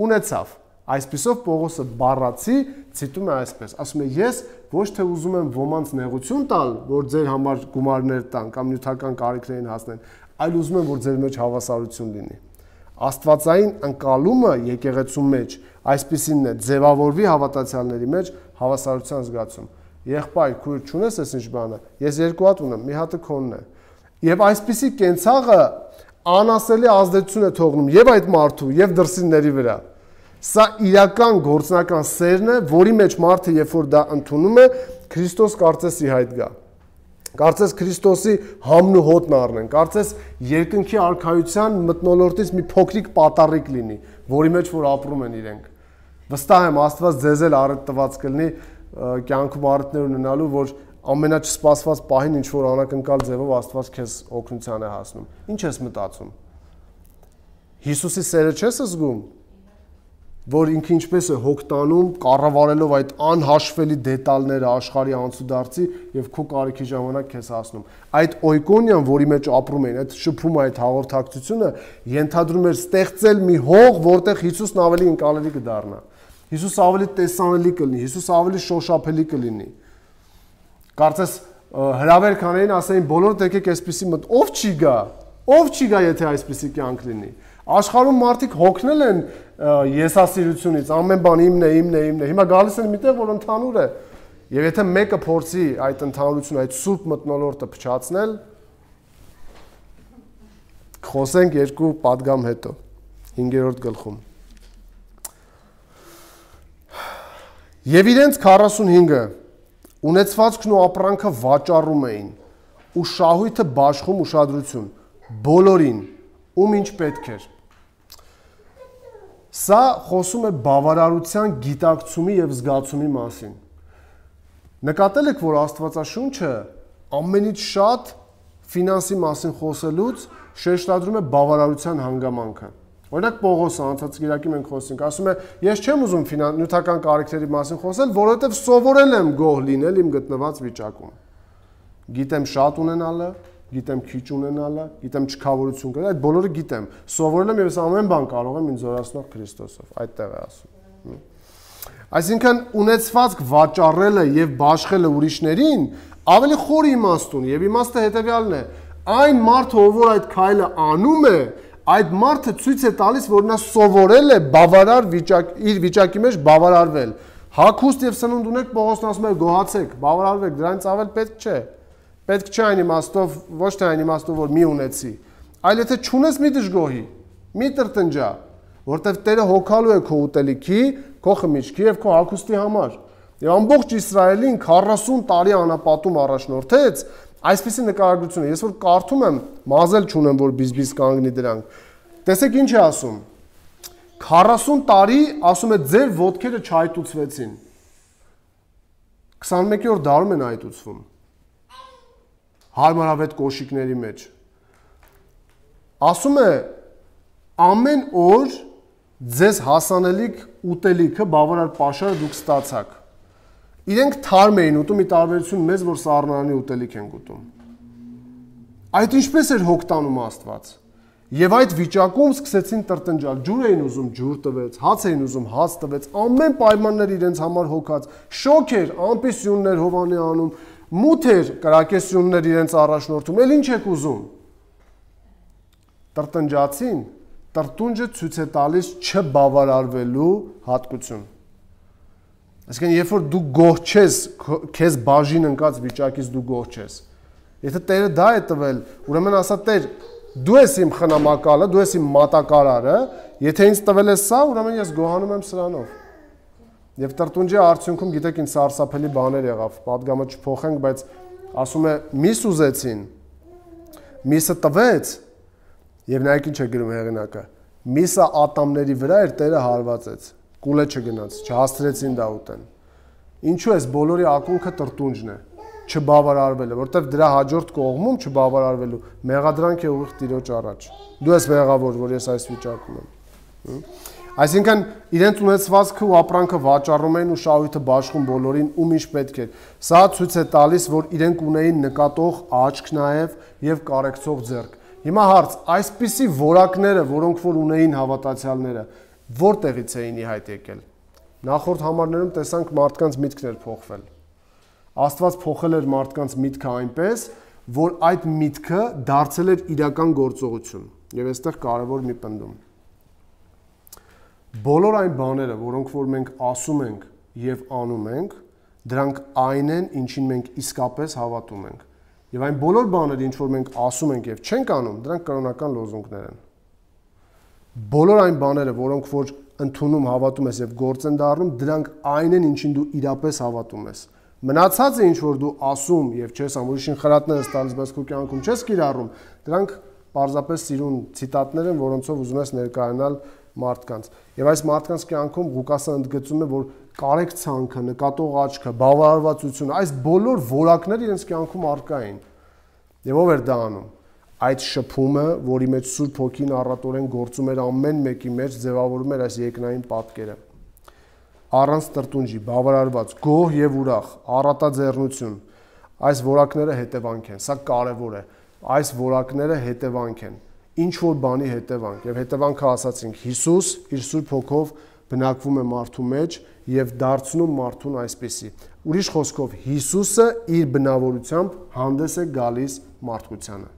ունեցավ։ Այսպիսով Պողոսը բառացի ցիտում է այսպես, ասում է ես ոչ թե ուզում եմ ոմանց նեղություն տալ, որ ձեր համար գումարներ տան կամ նյութական կարիքներին հասնեն, այլ ուզում եմ որ ձեր մեջ հավասարություն լինի։ Աստվածային ընկալումը եկեղեցու մեջ այսպիսինն է, ձևավորվի հավատացյալների մեջ հավասարության զգացում։ Եղբայր, քույր, չունես այս ինչ բանը, ես 2 հատ ունեմ, մի հատը քոնն է։ Եվ այսպիսի կենցաղը անասելի ազդեցություն է թողնում եւ այդ մարդու եւ դրսինների վրա։ Սա իրական գործնական սերն է, որի մեջ մարդը երբ որ դա ընդունում է, Քրիստոս կարծես ի հայտ գա։ Կարծես Քրիստոսի համն ու հոտն առնեն, կարծես երկնքի արքայության մթնոլորտից մի փոքրիկ պատառիկ լինի, որի մեջ որ ապրում են իրենք։ Վստահ եմ Աստված ձեզ էլ առիթ տված կլինի կյանքում առիթներ ունենալու, որ ամենաչսպասված պահին ինչ որ անակնկալ ձևով Աստված քեզ օգնության է հասնում։ Ինչ ես մտածում։ Հիսուսի սերը չես զգում, որ ինքը ինչպես է հոգ տանում, կառավարելով այդ անհաշվելի դետալները աշխարհի անցուդարձի եւ քո կարիքի ժամանակ քեզ հասնում։ Այդ օյկոնիան, որի մեջ ապրում են, այդ շփումը, այդ հաղորդակցությունը ենթադրում էր ստեղծել մի հող, որտեղ Հիսուսն ավելի ընկալելի կդառնա։ Հիսուս ավելի տեսանելի կլինի, Հիսուս ավելի շոշափելի կլինի։ Կարծես հրավեր կանեին, ասեին բոլորը եկեք այսպեսի մտ, ով չի գա, եթե այսպեսի կյանք լինի։ Աշխարհում մարդիկ հոգնել են եսասիրությունից, ամեն բան իմն է։ Հիմա գալիս են միտեղ, որ ընդհանուր է։ Եվ եթե մեկը փորձի այդ ընդհանրությունը, այդ սուրբ մթնոլորտը փչացնել, խոսենք 2 պատգամ հետո, 5-րդ գլխում։ Եվ իրենց 45-ը ունեցվածքն ու ապրանքը վաճառում էին ու շահույթը բաշխում ուշադրություն բոլորին, ում ինչ պետք էր։ Սա խոսում է բավարարության գիտակցումի եւ զգացումի մասին։ Նկատել եք, որ Աստվածաշունչը ամենից շատ ֆինանսի մասին խոսելուց շեշտադրում է բավարարության հանգամանքը։ Օրինակ Պողոսը անցած գիրակի մենք խոսենք, ասում է, ես չեմ ուզում նյութական կարիքների մասին խոսել, որովհետև սովորել եմ գոհ լինել իմ գտնված վիճակում։ Գիտեմ շատ ունենալը, գիտեմ քիչ ունենալը, գիտեմ չքավորություն կրել, այդ բոլորը գիտեմ։ Սովորել եմ եւ ես ամեն բան կարող եմ ինձ զորացնող Քրիստոսով, այդտեղ է ասում։ Այսինքն ունեցվածք վաճառելը եւ բաշխելը ուրիշներին ավելի խոր իմաստ ունի եւ իմաստը հետեւյալն է. այն մարդը, ով այդ քայլը անում է, այդ մարդը ցույց է տալիս, որ նա սովորել է բավարար իր վիճակի մեջ բավարարվել։ Հագուստ եւ սնունդ ունեք, Պողոսն ասում է գոհացեք, բավարարվեք, դրանից ավել պետք չէ։ Պետք չէ այն իմաստով, ոչ թե այն իմաստով, որ մի ունեցի, այլ եթե չունես մի դժգոհի, մի տրտնջա, որտեվ Տերը հոգալու է քո ուտելիքի, քո խմիչքի եւ քո հագուստի համար։ Եվ ամբողջ Իսրայելին 40 տարի անապատում առաջնորդեց այսպիսի նկարագրությունը։ Ես որ կարդում եմ, մազել չունեմ, որ բիզբիզ կանգնի դրանք։ Տեսեք ինչ է ասում։ 40 տարի, ասում է, ձեր ոտքերը չայտուցվեցին։ 21-րդ դարում են այտուցվում։ Հարմարավետ կոշիկների մեջ։ Ասում է, ամեն օր ձեզ հասանելիք ուտելիքը բավարար պաշարը դուք ստացաք։ Իրենք թարմ էին ուտում, ի տարբերություն մեզ, որ սառնարանի ուտելիք ենք ուտում։ Այդ ինչպես էր հոգ տանում Աստված։ Եվ այդ վիճակում սկսեցին տրտնջալ, ջուր էին ուզում, ջուր տվեց, հաց էին ուզում, հաց տվեց, ամեն պայմաններ իրենց համար հոգած, շոկ էր, ամպիսյուններ Հովանի անում, մութ էր, կրակեսյուններ իրենց առաջնորդում, էլ ինչ եք ուզում։ Տրտնջացին, տրտունջը ցույց է տալիս չբավարարվելու հատկություն։ Այսինքն, երբ որ դու գոհ չես, քեզ բաժին ընկած վիճակից դու գոհ չես։ Եթե Տերը դա է տվել, ուրեմն ասա Տեր, դու ես իմ խնամակալը, դու ես իմ մատակարարը, եթե ինձ տվել ես սա, ուրեմն ես գոհանում եմ սրանով։ Եվ տրտունջի արդյունքում գիտեք ինչ սարսափելի բաներ եղավ, պատգամը չփոխենք, բայց ասում է միս ուզեցին, միսը տվեց, եւ նայեք ինչ է գրում հեղինակը, միսը ատամների վրա էր, Տերը հարվածեց, կուլե չգնաց, չհասցրեցին դա ուտեն։ Ինչու էս բոլորի ակունքը տրտունջն է, չբավարարվելը, որտեվ դրա հաջորդ կողմում չբավարարվելու մեղադրանք է ուղիղ Տիրոջ առաջ։ Դու ես մեղավոր, որ ես այս վիճակում եմ։ Այսինքն իրենց ունեցվածքը ու ապրանքը վաճառում էին ու շահույթը բաշխում բոլորին, ում ինչ պետք էր։ Սա ցույց է տալիս, որ իրենք ունեին նկատող աչք նաև եւ կարեկցող ձեռք։ Հիմա հարց, այսպիսի որակները, որոնք որ ունեին հավատացյալները, որտեղից էին ի հայտ եկել։ Նախորդ համարներում տեսանք մարդկանց միտքներ փոխվել։ Աստված փոխել էր մարդկանց միտքը այնպես, որ այդ միտքը դարձել էր իրական գործողություն։ Եվ այստեղ կարևոր մի պնդում։ Բոլոր այն բաները, որոնք որ մենք ասում ենք եւ անում ենք, դրանք այն են, ինչին մենք իսկապես հավատում ենք։ Եվ այն բոլոր բաները, ինչ որ մենք ասում ենք եւ չենք անում, դրանք կրոնական լոզունգներ են։ Բոլոր այն բաները, որոնք որ ընդունում հավատում ես եւ գործ են դառնում, դրանք այն են, ինչին դու իրապես հավատում ես։ Մնացածը ինչ որ դու ասում եւ չես անում, ուրիշին խրատներ ես տալիս, բայց քո կյանքում չես կիրառում, դրանք պարզապես սիրուն ցիտատներ են, որոնցով ուզում ես ներկայանալ մարդկանց։ Եվ այս մարդկանց կյանքում Ղուկասը ընդգծում է, որ կարեկցանքը, նկատող աչքը, բավարարվածությունը, այս բոլոր որակները իրենց կյանքում առկա էին։ Եվ ով էր դա անում։ Այդ շփումը, որի մեջ Սուրբ Հոգին առատորեն գործում էր ամեն մեկի մեջ, ձևավորում էր այս երկնային պատկերը։ Առանց տրտունջի, բավարարված, գոհ եւ ուրախ, առատաձեռնություն։ Այս որակները հետևանք են, սա կարևոր է։ Այս որակները հետևանք են։ Ինչ որ բանի հետևանք եւ հետևանքը ասացինք Հիսուս իր Սուրբ Հոգով բնակվում է մարդու մեջ եւ դարձնում մարդուն այսպեսի։ Ուրիշ խոսքով Հիսուսը իր բնավորությամբ հանդես է գալիս մարդկությանը։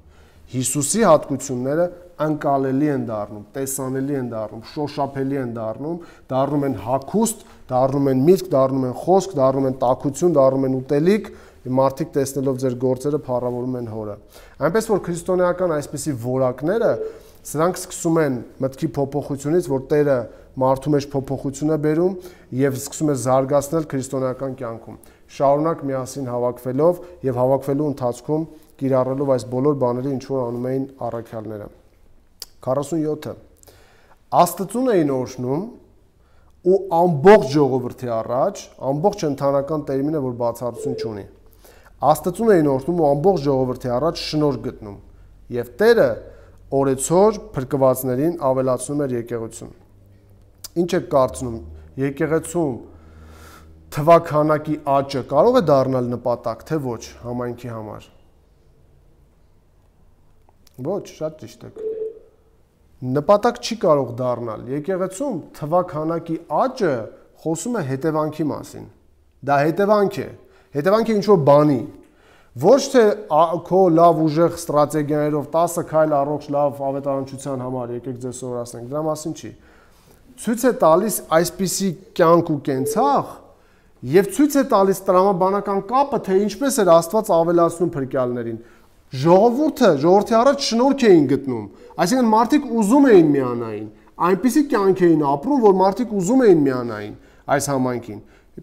Հիսուսի հատկությունները անկալելի են դառնում, տեսանելի են դառնում, շոշափելի են դառնում են հագուստ, դառնում են միտք, դառնում են խոսք, դառնում են տաքություն, դառնում են ուտելիք, մարդիկ տեսնելով ձեր գործերը փառավորում են Հորը։ Այնպես որ քրիստոնեական այսպիսի որակները, սրանք սկսում են մտքի փոփոխությունից, որ Տերը մարդու մեջ փոփոխություն է բերում եւ սկսում է զարգացնել քրիստոնեական կյանքում։ Շարունակ միասին հավաքվելով եւ հավաքվելու ընթացքում կիրառելով այս բոլոր բաները, ինչ որ անում էին առաքյալները։ 47-ը Աստծուն էին օրհնում ու ամբողջ ժողովրդի առաջ, ամբողջ ընդհանրական տերմինը, որ բացառություն չունի։ Աստծուն էին օրհնում ու ամբողջ ժողովրդի առաջ շնորհ գտնում, եւ Տերը օրեցօր փրկվածներին ավելացնում էր եկեղեցուն։ Ինչ է կարծնում, եկեղեցում թվաքանակի աճը կարող է դառնալ նպատակ, թե ոչ համայնքի համար։ Ոչ, շատ ճիշտ եք։ Նպատակ չի կարող դառնալ։ Եկեղեցում թվաքանակի աճը խոսում է հետևանքի մասին։ Դա հետևանք է։ Հետևանք է ինչ-որ բանի։ Ոչ թե քո լավ ուժեղ ստրատեգիաներով 10 քայլ առողջ լավ ավետարանչության համար եկեք ձեզ սովորացնենք, դրա մասին չի։ Ցույց է տալիս այսպիսի կյանք ու կենցաղ, Եվ ցույց է տալիս տրամաբանական կապը, թե ինչպես էր Աստված ավելացնում փրկյալներին։ Ժողովրդի առաջ շնորհք էին գտնում, այսինքն մարդիկ ուզում էին միանային, այնպիսի կյանք էին ապրում, որ մարդիկ ուզում էին միանային այս համայնքին։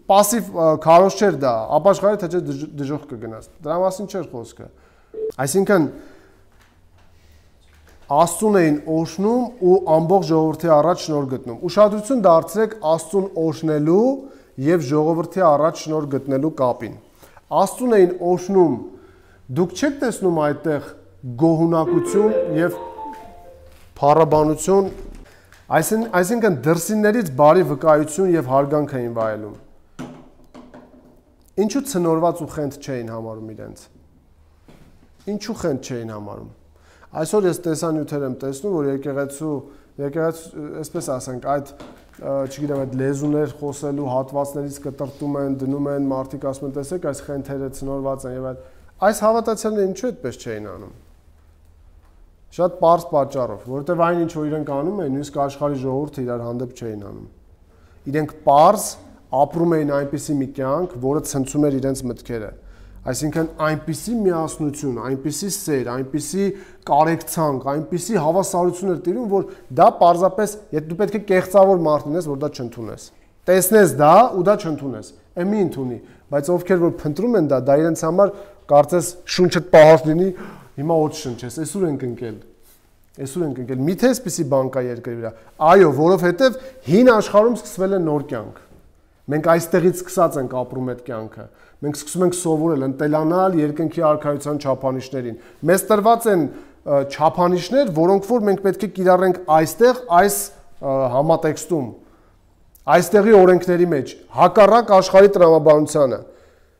Պասիվ քարոզ չէր դա, ապաշխարի թե չէ դժոխք կգնաց։ Դրա մասին չէր խոսքը։ Այսինքն Աստծուն էին օրհնում ու ամբողջ ժողովրդի առաջ շնորհ գտնում։ Ուշադրություն դարձրեք Աստծուն օրհնելու եւ ժողովրդի առաջ շնորհ գտնելու կապին։ Աստծուն էին օրհնում։ Դուք չեք տեսնում այդտեղ գոհունակություն եւ փառաբանություն, այսինքն դրսիններից բարի վկայություն եւ հարգանք էին վայելում։ Ինչու ցնորված ու խենթ չէին համարում իրենց։ Ինչու խենթ չէին համարում։ Այսօր ես տեսանյութեր եմ տեսնում, որ եկեղեցու, այսպես ասենք, այդ, չգիտեմ, այդ լեզուներ խոսելու հատվածներից կտրտում են, դնում են, մարդիկ ասում են, տեսեք, այս խենթերը ցնորված են եւ այս հավատացյալները ինչու այդպես չէին անում։ Շատ պարզ պատճառով, որովհետեւ այն ինչ որ իրենք անում էին, նույնիսկ աշխարհի ժողովուրդը իրար հանդեպ չէին անում։ Իրենք պարզ ապրում էին այնպիսի մի կյանք, որը ցնցում էր իրենց մտքերը։ Այսինքն այնպիսի միասնություն, այնպիսի սեր, այնպիսի կարեկցանք, այնպիսի հավասարություն էր տիրում, որ դա պարզապես, եթե դու պետք է կեղծավոր մարդ լինես, որ դա չընդունես։ Տեսնես դա ու դա չընդունես։ Մի ընդունի, բայց ովքեր որ փնտրում են դա իրենց համար կարծես շունչդ պահած լինի, հիմա ոչ շնչես, այսօր ենք ընկել։ Այսօր ենք ընկել։ Միթե էսպիսի բան կա երկրի վրա։ Այո, որովհետև հին աշխարհում սկսվել է նոր կյանք։ Մենք այստեղից սկսած ենք ապրում այդ կյանքը։ Մենք սկսում ենք սովորել, ընտելանալ երկնքի արքայության չափանիշներին։ Մեզ տրված են չափանիշներ, որոնք որ մենք պետք է կիրառենք այստեղ, այս համատեքստում, այստեղի օրենքների մեջ, հակառակ աշխարհի տրամաբանությանը։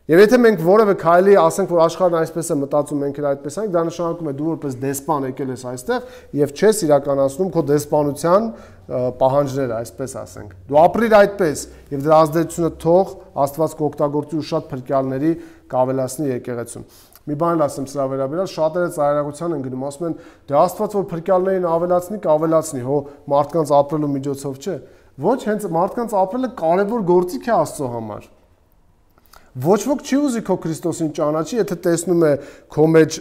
Եվ եթե մենք որևէ քայլի ասենք, որ աշխարհն այսպես է մտածում, մենք էլ այդպես ենք, դա նշանակում է դու որպես դեսպան եկել ես այստեղ եւ չես իրականացնում քո դեսպանության պահանջները, այսպես ասենք։ Դու ապրիր այդպես եւ դրա ազդեցությունը թող Աստված կօգտագործի ու շատ փրկյալների կավելացնի եկեղեցուն։ Մի բան ասեմ սրա վերաբերյալ, շատերը ծայրահեղության են գնում, ասում են, դե Աստված որ փրկյալներին ավելացնի, կավելացնի, հո մարդկանց ապրելու միջոցով չէ։ Ոչ, հենց մարդկանց ապրելը կարևոր գործիք է Աստծո համար։ Ոչ ոք չի ուզի քո Քրիստոսին ճանաչի, եթե տեսնում է քո մեջ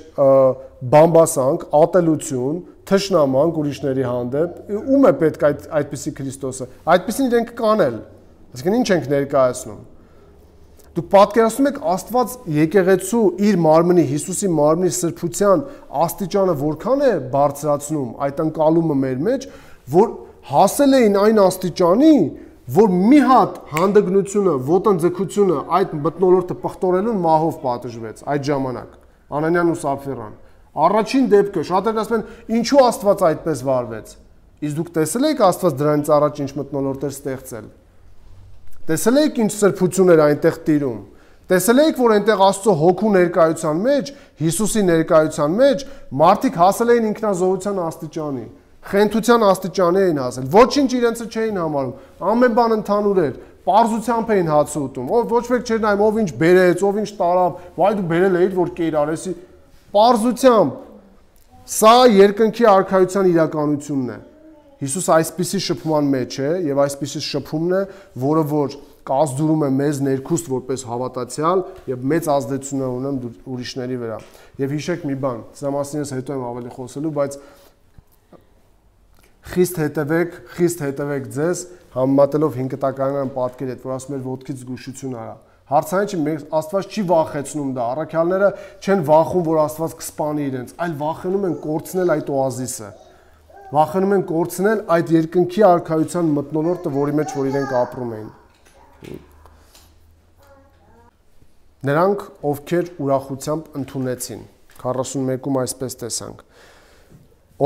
բամբասանք, ատելություն, թշնամանք ուրիշների հանդեպ, ում է պետք այդպիսի Քրիստոսը։ Այդպիսին իրենք կանել։ Այսինքն ինչ ենք ներկայացնում։ Դուք պատկերացնում եք Աստված եկեղեցու իր մարմնի, Հիսուսի մարմնի սրբության աստիճանը որքան է բարձրացնում այդ ընկալումը մեր մեջ, որ հասել էին այն աստիճանի, որ մի հատ հանդգնությունը, ոտնձգությունը այդ մթնոլորտը պղտորելուն մահով պատժվեց այդ ժամանակ, Անանյան ու Սափֆիրան։ Առաջին դեպքը, շատերն ասում են, ինչու Աստված այդպես վարվեց։ Իսկ դուք տեսել եք Աստված դրանից առաջ ինչ մթնոլորտեր ստեղծել։ Տեսել եք ինչ սրբություն էր այնտեղ տիրում։ Տեսել եք, որ այնտեղ Աստծո հոգու ներկայության մեջ, Հիսուսի ներկայության մեջ մարդիկ հասել էին ինքնազոհության աստիճանի։ Խենթության աստիճանի էին հասել, ոչինչ իրենցը չէին համարում, ամեն բան ընդհանուր էր, պարզությամբ էին հացը ուտում, ոչ մեկ չէր նայում, ով ինչ բերեց, ով ինչ տարավ, վայ դու բերել էիր, որ կեր արեսի, պարզությամբ, սա երկնքի արքայության իրականությունն է, Հիսուս այսպիսի շփման մեջ է և այսպիսի շփումն է, որը որ կազդուրում է մեզ ներքուստ որպես հավատացյալ և մեծ ազդեցություն է ունեմ ուրիշների վրա, և հիշեք մի բան, սրա մասին ես հետո եմ ավելի խոսելու, բայց Խիստ հետևեք ձեզ, համեմատելով 5 տականյան պատկեր հետ, որ ասում էր ոտքից զգուշություն արա։ Հարցային չի, Աստված չի վախեցնում դա, առաքյալները չեն վախում, որ Աստված կսպանի իրենց, այլ վախենում են կորցնել այդ օազիսը։ Վախենում են կորցնել այդ երկնքի արքայության մթնոլորտը, որի մեջ որ իրենք ապրում էին։ Նրանք, ովքեր ուրախությամբ ընդունեցին, 41-ում այսպես տեսանք,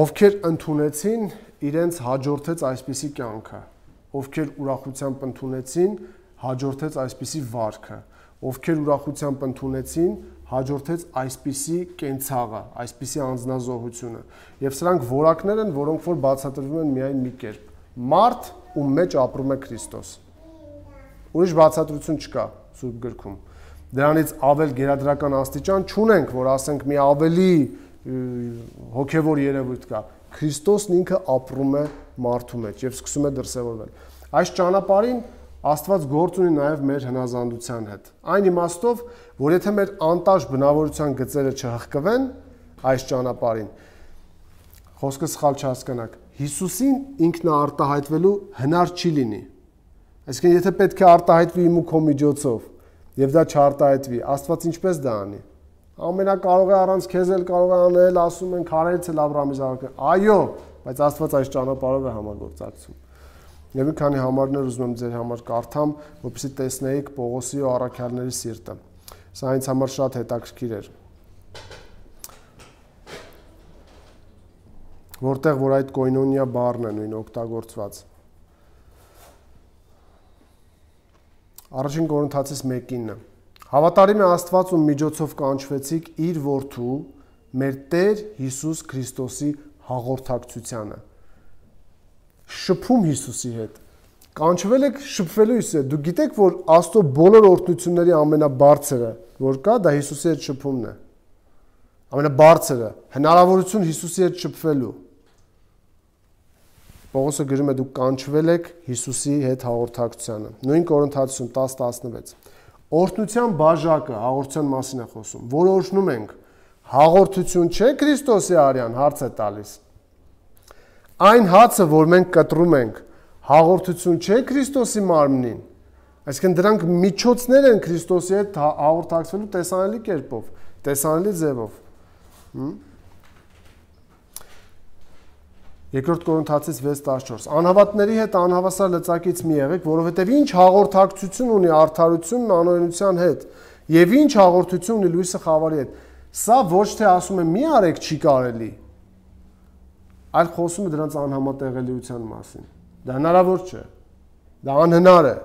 ովքեր ընդունեցին, իրենց հաջորդեց այսպիսի կյանքը, ովքեր ուրախությամբ ընդունեցին, հաջորդեց այսպիսի վարքը, ովքեր ուրախությամբ ընդունեցին, հաջորդեց այսպիսի կենցաղը, այսպիսի անձնազոհությունը, և սրանք որակներ են, որոնք որ բացատրվում են միայն մի կերպ, մարդ, ում մեջ ապրում է Քրիստոս, ուրիշ բացատրություն չկա Սուրբ գրքում, դրանից ավել գերադրական աստիճան չունենք, որ ասենք մի ավելի հոգևոր երևույթ կա, Քրիստոսն ինքը ապրում է մարդու մեջ և սկսում է դրսևորվել։ Այս ճանապարհին Աստված գործ ունի նաև մեր հնազանդության հետ։ Այն իմաստով, որ եթե մեր անտաշ բնավորության գծերը չհղկվեն այս ճանապարհին, խոսքը սխալ չհասկանաք, Հիսուսին ինքնաարտահայտվելու հնար չի լինի։ Այսինքն, եթե պետք է արտահայտվի իմ ու քո միջոցով, եւ դա չարտահայտվի, Աստված ինչպես դա անի։ Ամենակարող է առանց քեզ էլ կարող է անել, ասում են քարերից էլ Աբրահամի զավակը։ Այո, բայց Աստված այս ճանապարհով է համագործակցում։ Եվ մի քանի համարներ ուզում եմ ձեր համար կարդամ, որպեսզի տեսնեիք Պողոսի ու առաքյալների սիրտը։ Սա ինձ համար շատ հետաքրքիր էր։ Որտեղ որ այդ կոյնոնիա բառն է նույն օգտագործված։ Առաջին Կորինթացիս 1:9 Հավատարիմ է Աստված, ում միջոցով կանչվեցիք իր որդու, մեր Տեր Հիսուս Քրիստոսի հաղորդակցությանը։ Շփում Հիսուսի հետ։ Կանչվել եք շփվելու Հիսուսի հետ։ Դուք գիտեք, որ Աստծո բոլոր օրհնությունների ամենաբարձրը, որ կա, դա Հիսուսի հետ շփումն է։ Ամենաբարձրը, հնարավորություն Հիսուսի հետ շփվելու։ Պողոսը գրում է դուք կանչվել եք Հիսուսի հետ հաղորդակցությանը։ Նույն Կորինթացիում 10:16 Օրհնության բաժակը հաղորդության մասին է խոսում, որ օրհնում ենք, հաղորդություն չէ Քրիստոսի արյան, հարց է տալիս։ Այն հացը, որ մենք կտրում ենք, հաղորդություն չէ Քրիստոսի մարմնին։ Այսինքն դրանք միջոցներ են Քրիստոսի հետ հաղորդակցվելու տեսանելի կերպով, տեսանելի ձևով։ Երկրորդ Կորինթացիս 6:14 Անհավատների հետ անհավասար լծակից մի եղեք, որովհետև ինչ հաղորդակցություն ունի արդարությունն անօրենության հետ, եւ ինչ հաղորդություն ունի լույսը խավարի հետ։ Սա ոչ թե ասում է մի արեք չի կարելի, այլ խոսում է դրանց անհամատեղելիության մասին։ Դա հնարավոր չէ։ Դա անհնար է։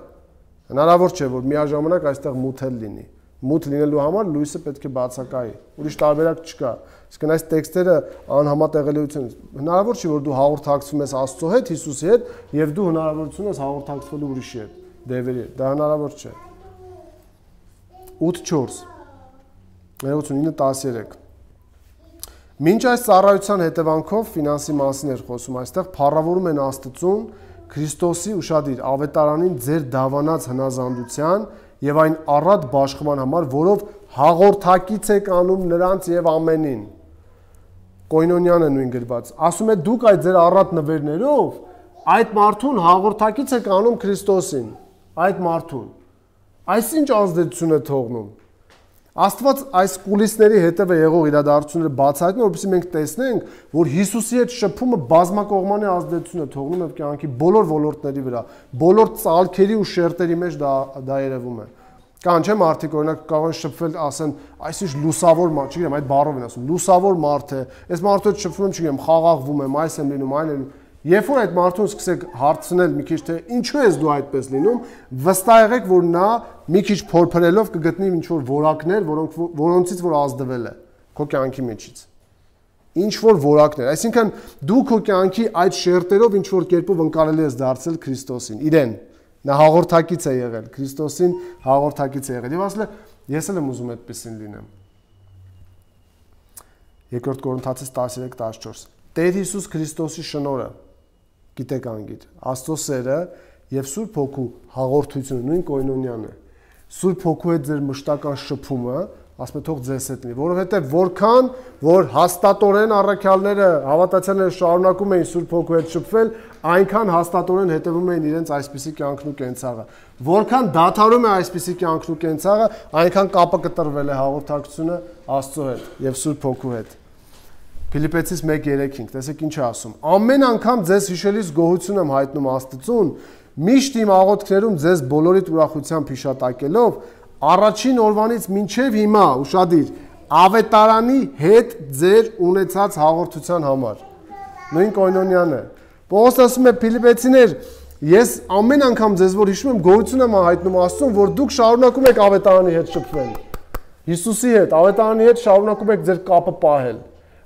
Հնարավոր չէ, որ միաժամանակ այստեղ մութ էլ լինի։ Մութ լինելու համար լույսը պետք է բացակայի։ Ուրիշ տարբերակ չկա։ Իսկ այս տեքստերը անհամատեղելիություն։ Հնարավոր չի, որ դու հաղորդակցվում ես Աստծո հետ, Հիսուսի հետ, եւ դու հնարավորություն ես հաղորդակցվելու ուրիշի հետ, դևերի հետ։ Դա հնարավոր չէ։ 8:4 39:13 Մինչ այս ծառայության հետևանքով ֆինանսի մասին էր խոսում, այստեղ փառավորում են Աստծուն Քրիստոսի ուշադիր ավետարանին ձեր դավանած հնազանդության եւ այն առատ բաշխման համար, որով հաղորդակից եք անում նրանց եւ ամենին։ Կոյնոնյան է նույն գրված։ Ասում է դուք այդ ձեր առատ նվերներով այդ մարդուն հաղորդակից եք անում Քրիստոսին, այդ մարդուն։ Այսինչ ազդեցություն է թողնում։ Աստված այս կուլիսների հետևը եղող իրադարձությունները բացահայտում է, որպեսզի մենք տեսնենք, որ Հիսուսի հետ շփումը բազմակողմանի ազդեցություն է թողնում եւ կյանքի բոլոր ոլորտների վրա, բոլոր ծալքերի ու շերտերի մեջ դա երևում է։ Կան չէ՞ մարդիկ, օրինակ կարող են շփվել, ասեն, այսինչ լուսավոր մարդ, չգիտեմ, այդ բառով են ասում, լուսավոր մարդ է, այս մարդու հետ շփվում եմ, չգիտեմ, խաղաղվում եմ, այս եմ լինում, այն եմ։ Երբ որ այդ մարդուն սկսեք հարցնել մի քիչ թե ինչու ես դու այդպես լինում, վստահ եղեք, որ նա մի քիչ փորփրելով կգտնի ինչ-որ որակներ, որոնցից որ ազդվել է քո կյանքի մեջից։ Ինչ-որ որակներ, այսինքն դու քո կյանքի այդ շերտերով ինչ-որ կերպով ընկալելի ես դարձել Քրիստոսին, իրեն։ Նա հաղորդակից է եղել, Քրիստոսին հաղորդակից է եղել։ Եվ ասել է, ես էլ եմ ուզում այդպեսին լինեմ։ Երկրորդ Կորինթացիս 13:14 Տեր Հիսուս Քրիստոսի շնորհը գիտեք անգիր, Աստծո սերը եւ Սուրբ Հոգու հաղորդությունը նույն կոյնոնյան է։ Սուրբ Հոգու հետ ձեր մշտական շփումը, ասում է թող ձեզ հետ լինի, որովհետեւ որքան որ հաստատորեն առաքյալները, հավատացյալները շարունակում էին Սուրբ Հոգու հետ շփվել, այնքան հաստատորեն հետևում էին իրենց այսպիսի կյանքն ու կենցաղը։ Որքան դադարում է այսպիսի կյանքն ու կենցաղը, այնքան կապը կտրվել է հաղորդակցությունը Աստծո հետ եւ Սուրբ Հոգու հետ։ Փիլիպպեցիս 1:3-5, տեսեք ինչ է ասում։ Ամեն անգամ ձեզ հիշելիս գոհություն եմ հայտնում Աստծուն, միշտ իմ աղոթքներում ձեզ բոլորիդ ուրախությամբ հիշատակելով, առաջին օրվանից մինչև հիմա, ուշադիր, ավետարանի հետ ձեր ունեցած հաղորդության համար։ Նույն կոյնոնյան է։ Պողոս ասում է Փիլիպպեցիներ, ես ամեն անգամ ձեզ որ հիշում եմ գոհություն եմ հայտնում Աստծուն, որ դուք շարունակում եք ավետարանի հետ շփվել։ Հիսուսի հետ, ավետարանի հետ շարունակում եք ձեր կապը պահել։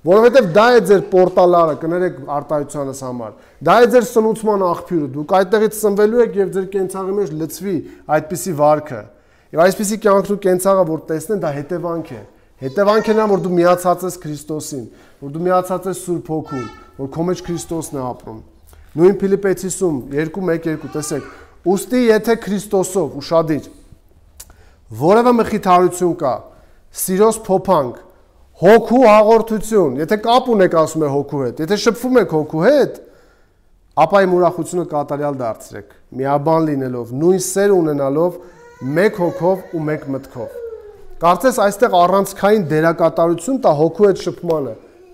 Որովհետև դա է ձեր պորտալարը, կներեք արտահայտությանս համար։ Դա է ձեր սնուցման աղբյուրը։ Դուք այդտեղից սնվելու եք եւ ձեր կենցաղի մեջ լցվի այդպիսի վարքը։ Եվ այսպիսի կյանքն ու կենցաղը որ տեսնեն, դա հետևանք է։ Հետևանք է նա, որ դու միացած ես Քրիստոսին, որ դու միացած ես Սուրբ Հոգուն, որ քո մեջ Քրիստոսն է ապրում։ Նույն Փիլիպպեցիսում 2:1-2 տեսեք, Ուստի եթե Քրիստոսով ուշադիր որևէ մխիթարություն կա, սիրոս փոփանք, հոգու հաղորդություն, եթե կապ ունեք ասում է հոգու հետ, եթե շփվում եք հոգու հետ, ապա իմ ուրախությունը կատարյալ դարձրեք, միաբան լինելով, նույն սեր ունենալով, մեկ հոգով ու մեկ մտքով։ Կարծես այստեղ առանցքային դերակատարություն տա հոգու հետ շփմանը։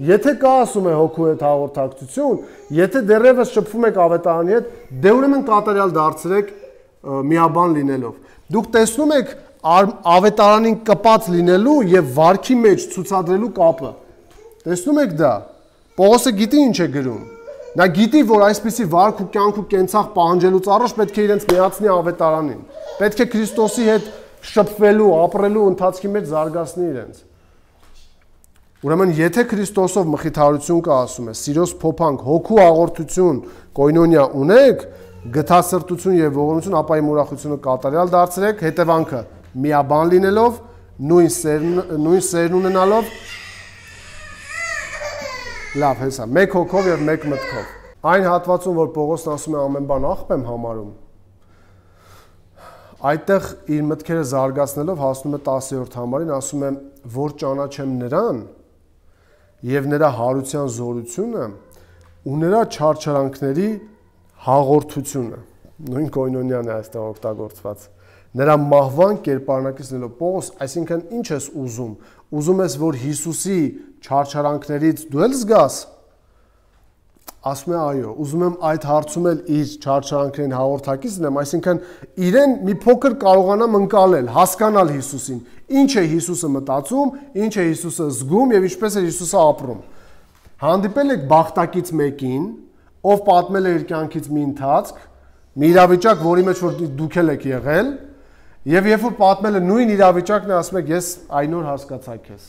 Եթե կա ասում է հոգու հետ հաղորդակցություն, եթե դեռևս շփվում եք ավետարանի հետ, դե ուրեմն կատարյալ դարձրեք միաբան լինելով։ Դուք տեսնում եք ավետարանին կպած լինելու եւ վարքի մեջ ցուցադրելու կապը։ Տեսնում եք դա։ Պողոսը գիտի ինչ է գրում։ Նա գիտի, որ այսպիսի վարք ու կյանք ու կենցաղ պահանջելուց առաջ պետք է իրենց միացնի ավետարանին։ Պետք է Քրիստոսի հետ շփվելու, ապրելու ընթացքի մեջ զարգացնի իրենց։ Ուրեմն եթե Քրիստոսով մխիթարություն կա ասում է, սիրոս փոփանք, հոգու հաղորդություն, կոյնոնիա ունեք, գթասրտություն եւ ողորմություն, ապա իմ ուրախությունը կատարյալ դարձրեք, հետևանքը միաբան լինելով, նույն սերն ունենալով, լավ, հեսա, մեկ հոգով եւ մեկ մտքով։ Այն հատվածում, որ Պողոսն ասում է ամեն բան աղբ եմ համարում, այդտեղ իր մտքերը զարգացնելով հասնում է 10-րդ համարին, ասում է, որ ճանաչեմ նրան եւ նրա հարության զորությունը ու նրա չարչարանքների հաղորդությունը։ Նույն կոյնոնիան է այստեղ օգտագործված։ Նրա մահվան կերպարնակիցնելով Պողոս, այսինքն ինչ ես ուզում։ Ուզում ես, որ Հիսուսի չարչարանքներից դու էլ զգաս։ Ասում է այո, ուզում եմ այդ հարցում էլ իր չարչարանքներին հաղորդակից լինեմ, այսինքն իրեն մի փոքր կարողանամ ընկալել, հասկանալ Հիսուսին, ինչ է Հիսուսը մտածում, ինչ է Հիսուսը զգում եւ ինչպես է Հիսուսը ապրում։ Հանդիպել եք բախտակից մեկին, ով պատմել է իր կյանքից մի ընթացք, մի իրավիճակ, որի մեջ որ դուք եք եղել, եւ երբ որ պատմել է նույն իրավիճակն է, ասում եք ես այն օր հասկացա քեզ։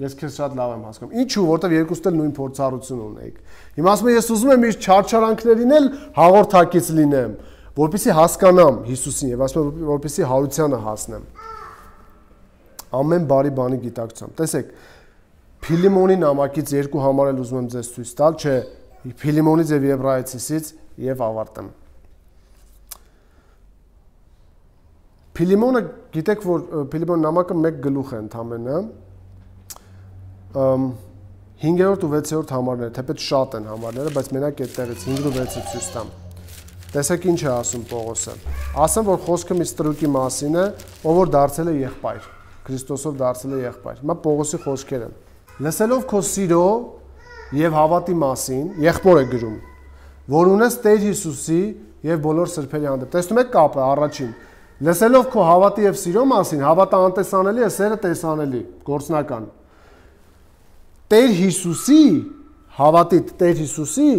Ես քեզ շատ լավ եմ հասկանում։ Ինչու, որտեվ երկուստ էլ նույն փորձառություն ունեիք։ Հիմա ասում եմ ես ուզում եմ իր չարչարանքներին էլ հաղորդակից լինեմ, որպեսզի հասկանամ Հիսուսին եւ ասում եմ որպեսզի հարությանը հասնեմ։ Ամեն բարի բանի գիտակցությամբ։ Տեսեք, Փիլիմոնի նամակից երկու համար էլ ուզում եմ ձեզ ցույց տալ, չէ, Փիլիմոնից եւ Եբրայեցիսից եւ ավարտեմ։ Փիլիմոնը գիտեք, որ Փիլիմոն նամակը մեկ գլուխ է ընդամենը 5-րդ ու 6-րդ համարները, թեպետ շատ են համարները, բայց մենակ այդտեղից 5 ու 6-ը ցույց տամ։ Տեսեք ինչ է ասում Պողոսը։ Ասեմ, որ խոսքը մի ստրուկի մասին է, ով որ դարձել է եղբայր, Քրիստոսով դարձել է եղբայր։ Հիմա Պողոսի խոսքերը։ Լսելով քո սիրո եւ հավատի մասին, եղբոր է գրում, որ ունես Տեր Հիսուսի եւ բոլոր սրբերի հանդեպ։ Տեսնում եք կապը առաջին։ Լսելով քո հավատի եւ սիրո մասին, հավատը անտեսանելի է, սերը տեսանելի, գործնական։ Տեր Հիսուսի, հավատիդ Տեր Հիսուսի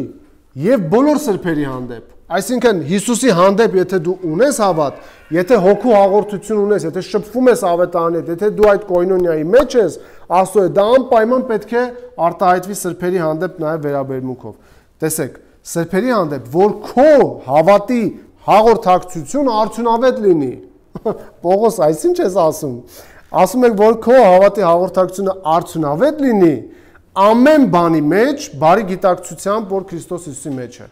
եւ բոլոր սրբերի հանդեպ։ Այսինքն Հիսուսի հանդեպ, եթե դու ունես հավատ, եթե հոգու հաղորդություն ունես, եթե շփվում ես ավետարանի հետ, եթե դու այդ կոյնոնիայի մեջ ես, Աստծո է, դա անպայման պետք է արտահայտվի սրբերի հանդեպ նաեւ վերաբերմունքով։ Տեսեք, սրբերի հանդեպ, որ քո հավատի հաղորդակցությունը արդյունավետ լինի։ Պողոս, այսինչ ես ասում։ Ասում եք, որ քո հավատի հաղորդակցությունը արդյունավետ լինի, ամեն բանի մեջ, բարի գիտակցությամբ, որ Քրիստոս Հիսուսի մեջ է։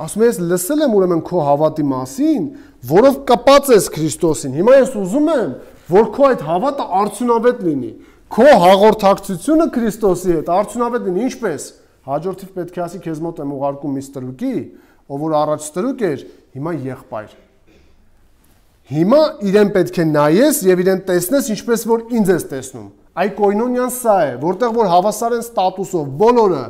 Ասում ես լսել եմ ուրեմն քո հավատի մասին, որով կապած ես Քրիստոսին։ Հիմա ես ուզում եմ, որ քո այդ հավատը արդյունավետ լինի։ Քո հաղորդակցությունը Քրիստոսի հետ արդյունավետ լինի, ինչպես։ Հաջորդիվ պետք է ասի քեզ մոտ եմ ուղարկում մի ստրուկի, ով որ առաջ ստրուկ էր, հիմա եղբայր։ Հիմա իրեն պետք է նայես եւ իրեն տեսնես ինչպես որ ինձ ես տեսնում։ Այ կոյնոնիան սա է, որտեղ որ հավասար են ստատուսով, բոլորը,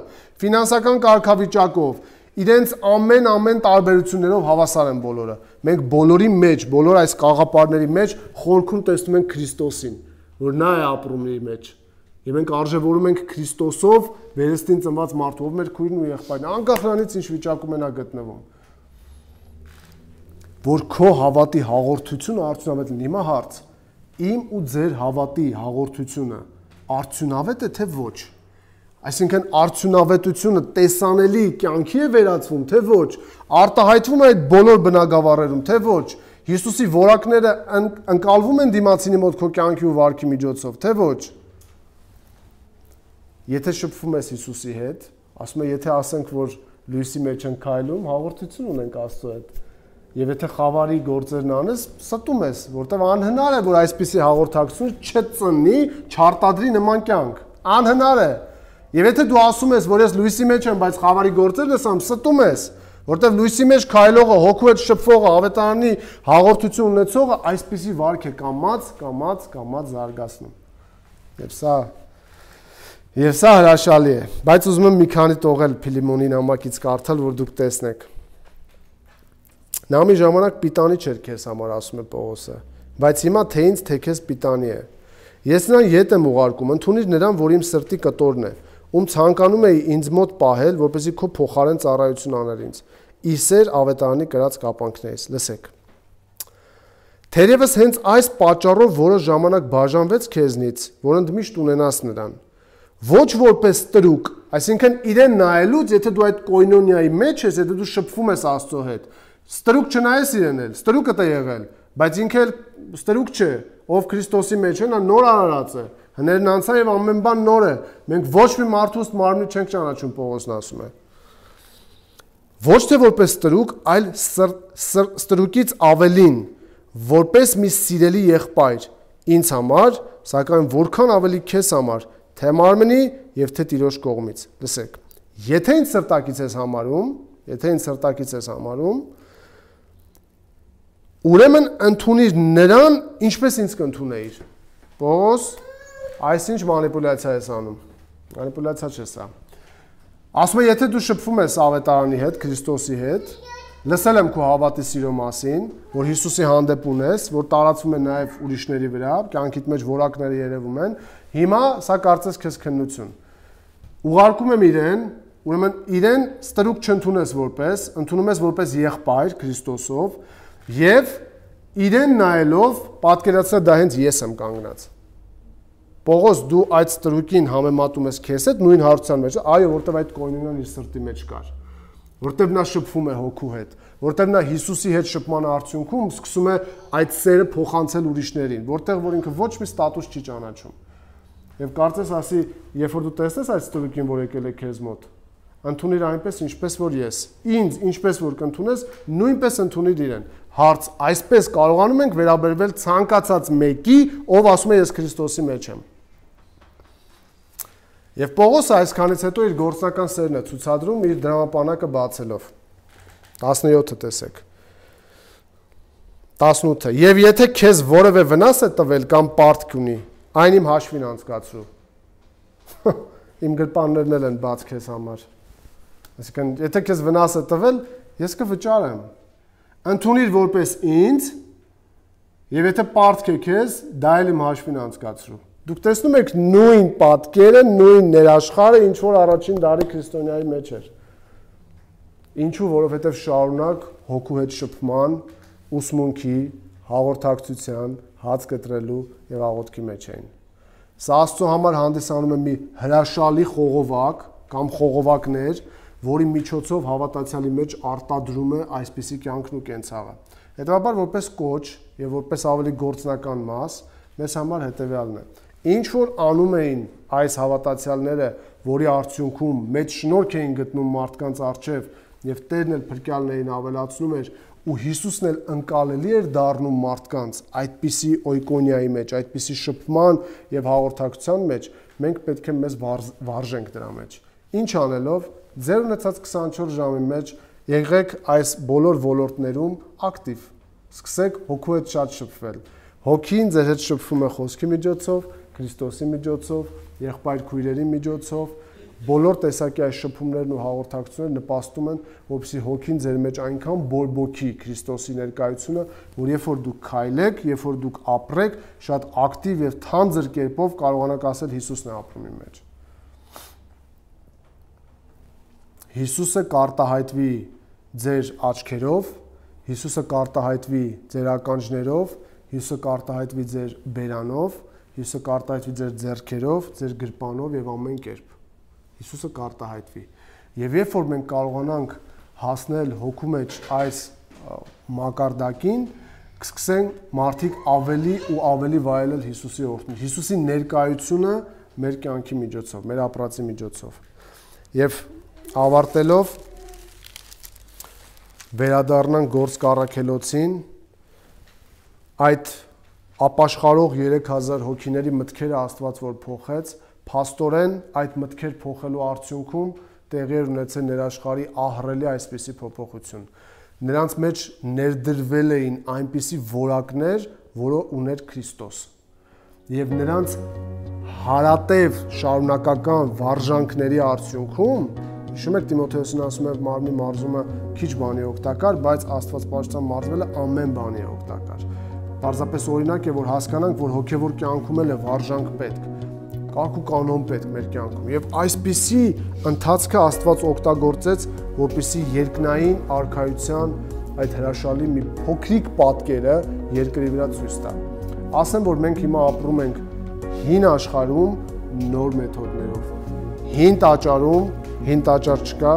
ֆինանսական կարգավիճակով, իրենց ամեն տարբերություններով հավասար են բոլորը։ Մենք բոլորի մեջ, բոլոր այս կաղապարների մեջ խորքում տեսնում ենք Քրիստոսին, որ նա է ապրում իր մեջ։ Եվ մենք արժևորում ենք Քրիստոսով վերստին ծնված մարդու, ով մեր քույրն ու եղբայրն, անկախ նրանից ինչ վիճակում է նա գտնվում։ Որ քո հավատի հաղորդությունը արդյունավետ լինի։ Հիմա հարց. իմ ու ձեր հավատի հաղորդությունը արդյունավետ է թե ոչ։ Այսինքն արդյունավետությունը տեսանելի կյանքի է վերածվում, թե ոչ, արտահայտվում է այդ բոլոր բնագավառերում, թե ոչ, Հիսուսի որակները ընկալվում են դիմացինի մոտ քո կյանքի ու վարքի միջոցով, թե ոչ։ Եթե շփվում ես Հիսուսի հետ, ասում եմ, եթե ասենք, որ լույսի մեջ են քայլում, հաղորդություն ունենք Աստծո հետ։ Եվ եթե խավարի գործերն անես, ստում ես, որտեղ անհնար է, որ այսպիսի հաղորդակցություն չծնի, չարտադրի նման կյանք։ Անհնար է։ Եվ եթե դու ասում ես, որ ես լույսի մեջ եմ, բայց խավարի գործերն ես անում, ստում ես, որտեղ լույսի մեջ քայլողը, հոգու հետ շփվողը, ավետարանի հաղորդություն ունեցողը այսպիսի վարք է կամած զարգացնում։ Եվ սա հրաշալի է, բայց ուզում եմ մի քանի տողել Փիլիմոնի նամակից կարդալ, որ դուք տեսնեք։ Նա մի ժամանակ պիտանի չէր քեզ համար, ասում է Պողոսը, բայց հիմա թե ինձ, թե քեզ պիտանի է։ Ես նրան ետ եմ ուղարկում, ընդունիր նրան, որ իմ սրտի կտորն է, ում ցանկանում էի ինձ մոտ պահել, որպեսզի քո փոխարեն ծառայություն աներ ինձ։ Իսեր ավետարանի կրած կապանքներից, լսեք։ Թերևս հենց այս պատճառով որոշ ժամանակ բաժանվեց քեզնից, որ ընդմիշտ ունենաս նրան։ Ոչ որպես տրուկ, այսինքն իրեն նայելուց, եթե դու այդ կոյնոնիայի մեջ ես, եթե դու շփվում ես Աստծո հետ, ստրուկ չնայես իրեն էլ, ստրուկը տա եղել, բայց ինքը էլ ստրուկ չէ, ով Քրիստոսի մեջ է, նա նոր արարած է, հներն անցան եւ ամեն բան նոր է, մենք ոչ մի մարդու ըստ մարմնի չենք ճանաչում, Պողոսն ասում է։ Ոչ թե որպես ստրուկ, այլ ստրուկից ավելին, որպես մի սիրելի եղբայր, ինձ համար, սակայն որքան ավելի քեզ համար, թե մարմնի եւ թե Տիրոջ կողմից։ Լսեք, եթե ինձ սրտակից ես համարում, ուրեմն ընդունիր նրան, ինչպես ինձ կընդունեիր։ Պողոս, այսինչ մանիպուլյացիա ես անում։ Մանիպուլյացիա չէ սա։ Ասում է, եթե դու շփվում ես ավետարանի հետ, Քրիստոսի հետ, լսել եմ քո հավատի սիրո մասին, որ Հիսուսի հանդեպ ունես, որ տարածվում է նաև ուրիշների վրա, կյանքիդ մեջ որակները երևում են, հիմա սա կարծես քեզ քննություն։ Ուղարկում եմ իրեն, ուրեմն իրեն ստրուկ չընդունես որպես, ընդունում ես որպես եղբայր Քրիստոսով, եւ իրեն նայելով պատկերացրել դա հենց ես եմ կանգնած։ Պողոս, դու այդ ստրուկին համեմատում ես քեզ հետ նույն հարցության մեջ, այո, որտեվ այդ կոյնոնիան իր սրտի մեջ կար, որտեվ նա շփվում է հոգու հետ, որտեվ նա Հիսուսի հետ շփման արդյունքում սկսում է այդ սերը փոխանցել ուրիշներին, որտեղ որ ինքը ոչ մի ստատուս չի ճանաչում։ Եվ կարծես ասի, երբ որ դու տեսնես այդ ստրուկին, որ եկել է քեզ մոտ, ընդունիր այնպես, ինչպես որ ես։ Ինձ, ինչպես որ կընդունես, նույնպես ընդունիր իրեն։ Հարց, այսպես կարողանում ենք վերաբերվել ցանկացած մեկի, ով ասում է ես Քրիստոսի մեջ եմ։ Եվ Պողոսը այսքանից հետո իր գործնական սերն է ցուցադրում իր դրամապանակը բացելով։ 17-ը տեսեք։ 18-ը։ Եվ եթե քեզ որևէ վնաս է տվել կամ պարտք ունի, այն իմ հաշվին անցկացրու։ Իմ գրպաններն էլ են բաց քեզ համար։ Այսինքն, եթե քեզ վնաս է տվել, ես կվճարեմ։ Ընդունիր որպես ինձ, եւ եթե պարտք է քեզ, դա էլ իմ հաշվին անցկացրու։ Դուք տեսնում եք նույն պատկերը, նույն ներաշխարը, ինչ որ առաջին դարի քրիստոնյայի մեջ էր։ Ինչու, որովհետև շարունակ հոգու հետ շփման, ուսմունքի, հաղորդակցության, հաց կտրելու եւ աղոթքի մեջ էին։ Սա Աստծո համար հանդիսանում է մի հրաշալի խողովակ կամ խողովակներ, որի միջոցով հավատացյալի մեջ արտադրում է այսպիսի կյանքն ու կենցաղը։ Հետևաբար որպես կոչ եւ որպես ավելի գործնական մաս, մեզ համար հետեւյալն է։ Ինչ որ անում էին այս հավատացյալները, որի արդյունքում մեծ շնորհք էին գտնում մարդկանց առջև եւ Տերն էլ փրկյալն էին ավելացնում էր ու Հիսուսն էլ ընկալելի էր դառնում մարդկանց այդպիսի օյկոնիայի մեջ, այդպիսի շփման եւ հաղորդակցության մեջ, մենք պետք է մեզ վարժենք դրա մեջ։ Ինչ անելով, ձեր ունեցած 24 ժամի մեջ եղեք այս բոլոր ոլորտներում ակտիվ։ Սկսեք հոգու հետ շատ շփվել։ Հոգին ձեր հետ շփվում է խոսքի միջոցով, Քրիստոսի միջոցով, եղբայր քույրերի միջոցով, բոլոր տեսակի այս շփումներն ու հաղորդակցությունները նպաստում են, որպեսզի հոգին ձեր մեջ այնքան բորբոքի Քրիստոսի ներկայությունը, որ երբ որ դուք քայլեք, երբ որ դուք ապրեք, շատ ակտիվ եւ թանձր կերպով կարողանաք ասել Հիսուսն է ապրում իմ մեջ։ Հիսուսը կարտահայտվի ձեր աչքերով, Հիսուսը կարտահայտվի ձեր ականջներով, Հիսուսը կարտահայտվի ձեր բերանով, Հիսուսը կարտահայտվի ձեր ձեռքերով, ձեր գրպանով եւ ամեն կերպ։ Հիսուսը կարտահայտվի։ Եվ երբ որ մենք կարողանանք հասնել հոգու մեջ այս մակարդակին, կսկսեն մարդիկ ավելի ու ավելի վայելել Հիսուսի օրհնությունը, Հիսուսի ներկայությունը մեր կյանքի միջոցով, մեր ապրածի միջոցով։ Եվ ավարտելով վերադառնանք Գործք առաքելոցին, այդ ապաշխարող 3000 հոգիների մտքերը Աստված որ փոխեց, փաստորեն այդ մտքեր փոխելու արդյունքում տեղի էր ունեցել ներաշխարհի ահռելի այսպիսի փոփոխություն։ Նրանց մեջ ներդրվել էին այնպիսի որակներ, որը ուներ Քրիստոս։ Եվ նրանց հարատև շարունակական վարժանքների արդյունքում, հիշում եք Տիմոթեոսին ասում է մարմնի մարզումը քիչ բանի օգտակար, բայց Աստվածպաշտության մարզվելը ամեն բանի է օգտակար։ Պարզապես օրինակ է, որ հասկանանք, որ հոգևոր կյանքում էլ է վարժանք պետք, կարգ ու կանոն պետք մեր կյանքում։ Եվ այսպիսի ընթացքը Աստված օգտագործեց, որպեսզի երկնային արքայության այդ հրաշալի մի փոքրիկ պատկերը երկրի վրա ցույց տա։ Ասեմ, որ մենք հիմա ապրում ենք հին աշխարհում նոր մեթոդներով։ Հին տաճարում հին տաճար չկա,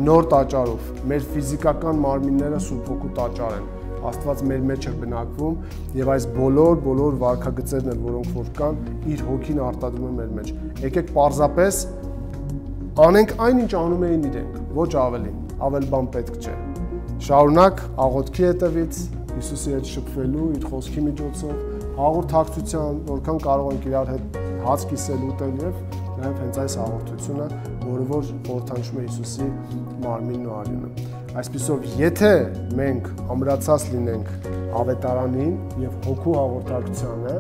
նոր տաճարով։ Մեր ֆիզիկական մարմինները Սուրբ Հոգու տաճար են։ Աստված մեր մեջ է բնակվում եւ այս բոլոր վարքագծերն են, որոնք որ կան, իր հոգին արտադրում է մեր մեջ։ Եկեք պարզապես անենք այն, ինչ անում էին իրենք, ոչ ավելին, ավել բան պետք չէ։ Շարունակ աղոթքի հետևից Հիսուսի հետ շփվելու, իր խոսքի միջոցով, հաղորդակցության, որքան կարող ենք իրար հետ հաց կիսել, ուտել եւ նաեւ հենց այս հաղորդությունը, որը որ խորհրդանշում է Հիսուսի մարմինն ու արյունը։ Այսպիսով, եթե մենք ամրացած լինենք ավետարանին եւ հոգու հաղորդակցությանը,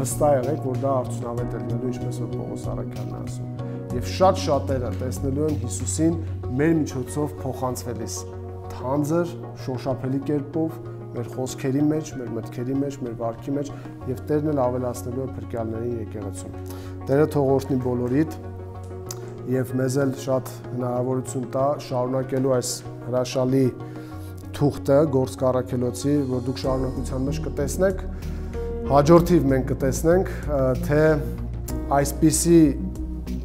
վստահ եղեք, որ դա արդյունավետ է լինելու, ինչպես որ Պողոս Առաքյալն է ասում։ Եվ շատ շատերը տեսնելու են Հիսուսին մեր միջոցով փոխանցվելիս թանձր, շոշափելի կերպով մեր խոսքերի մեջ, մեր մտքերի մեջ, մեր վարքի մեջ եւ Տերն էլ ավելացնելու է փրկյալների եկեղեցուն։ Տերը թող օրհնի բոլորիդ եւ մեզ էլ շատ հնարավորություն տա շարունակելու այս հրաշալի թուղթը Գործք առաքելոցի, որ դուք շարունակության մեջ կտեսնեք, հաջորդիվ մենք կտեսնենք, թե այսպիսի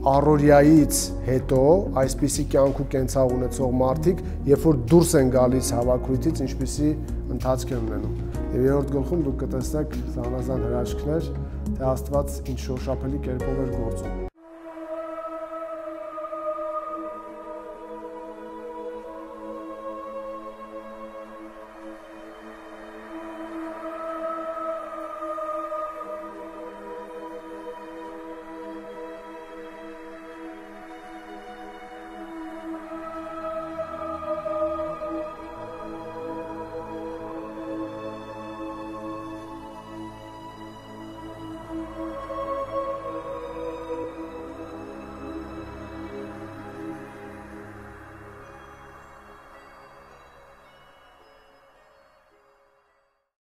առօրյայից հետո այսպիսի կյանք ու կենցաղ ունեցող մարդիկ, երբ որ դուրս են գալիս հավաքույթից, ինչպիսի ընթացք են ունենում։ Եվ երրորդ գլխում դուք կտեսնեք զանազան հրաշքներ, թե Աստված ինչ շոշափելի կերպով էր գործում։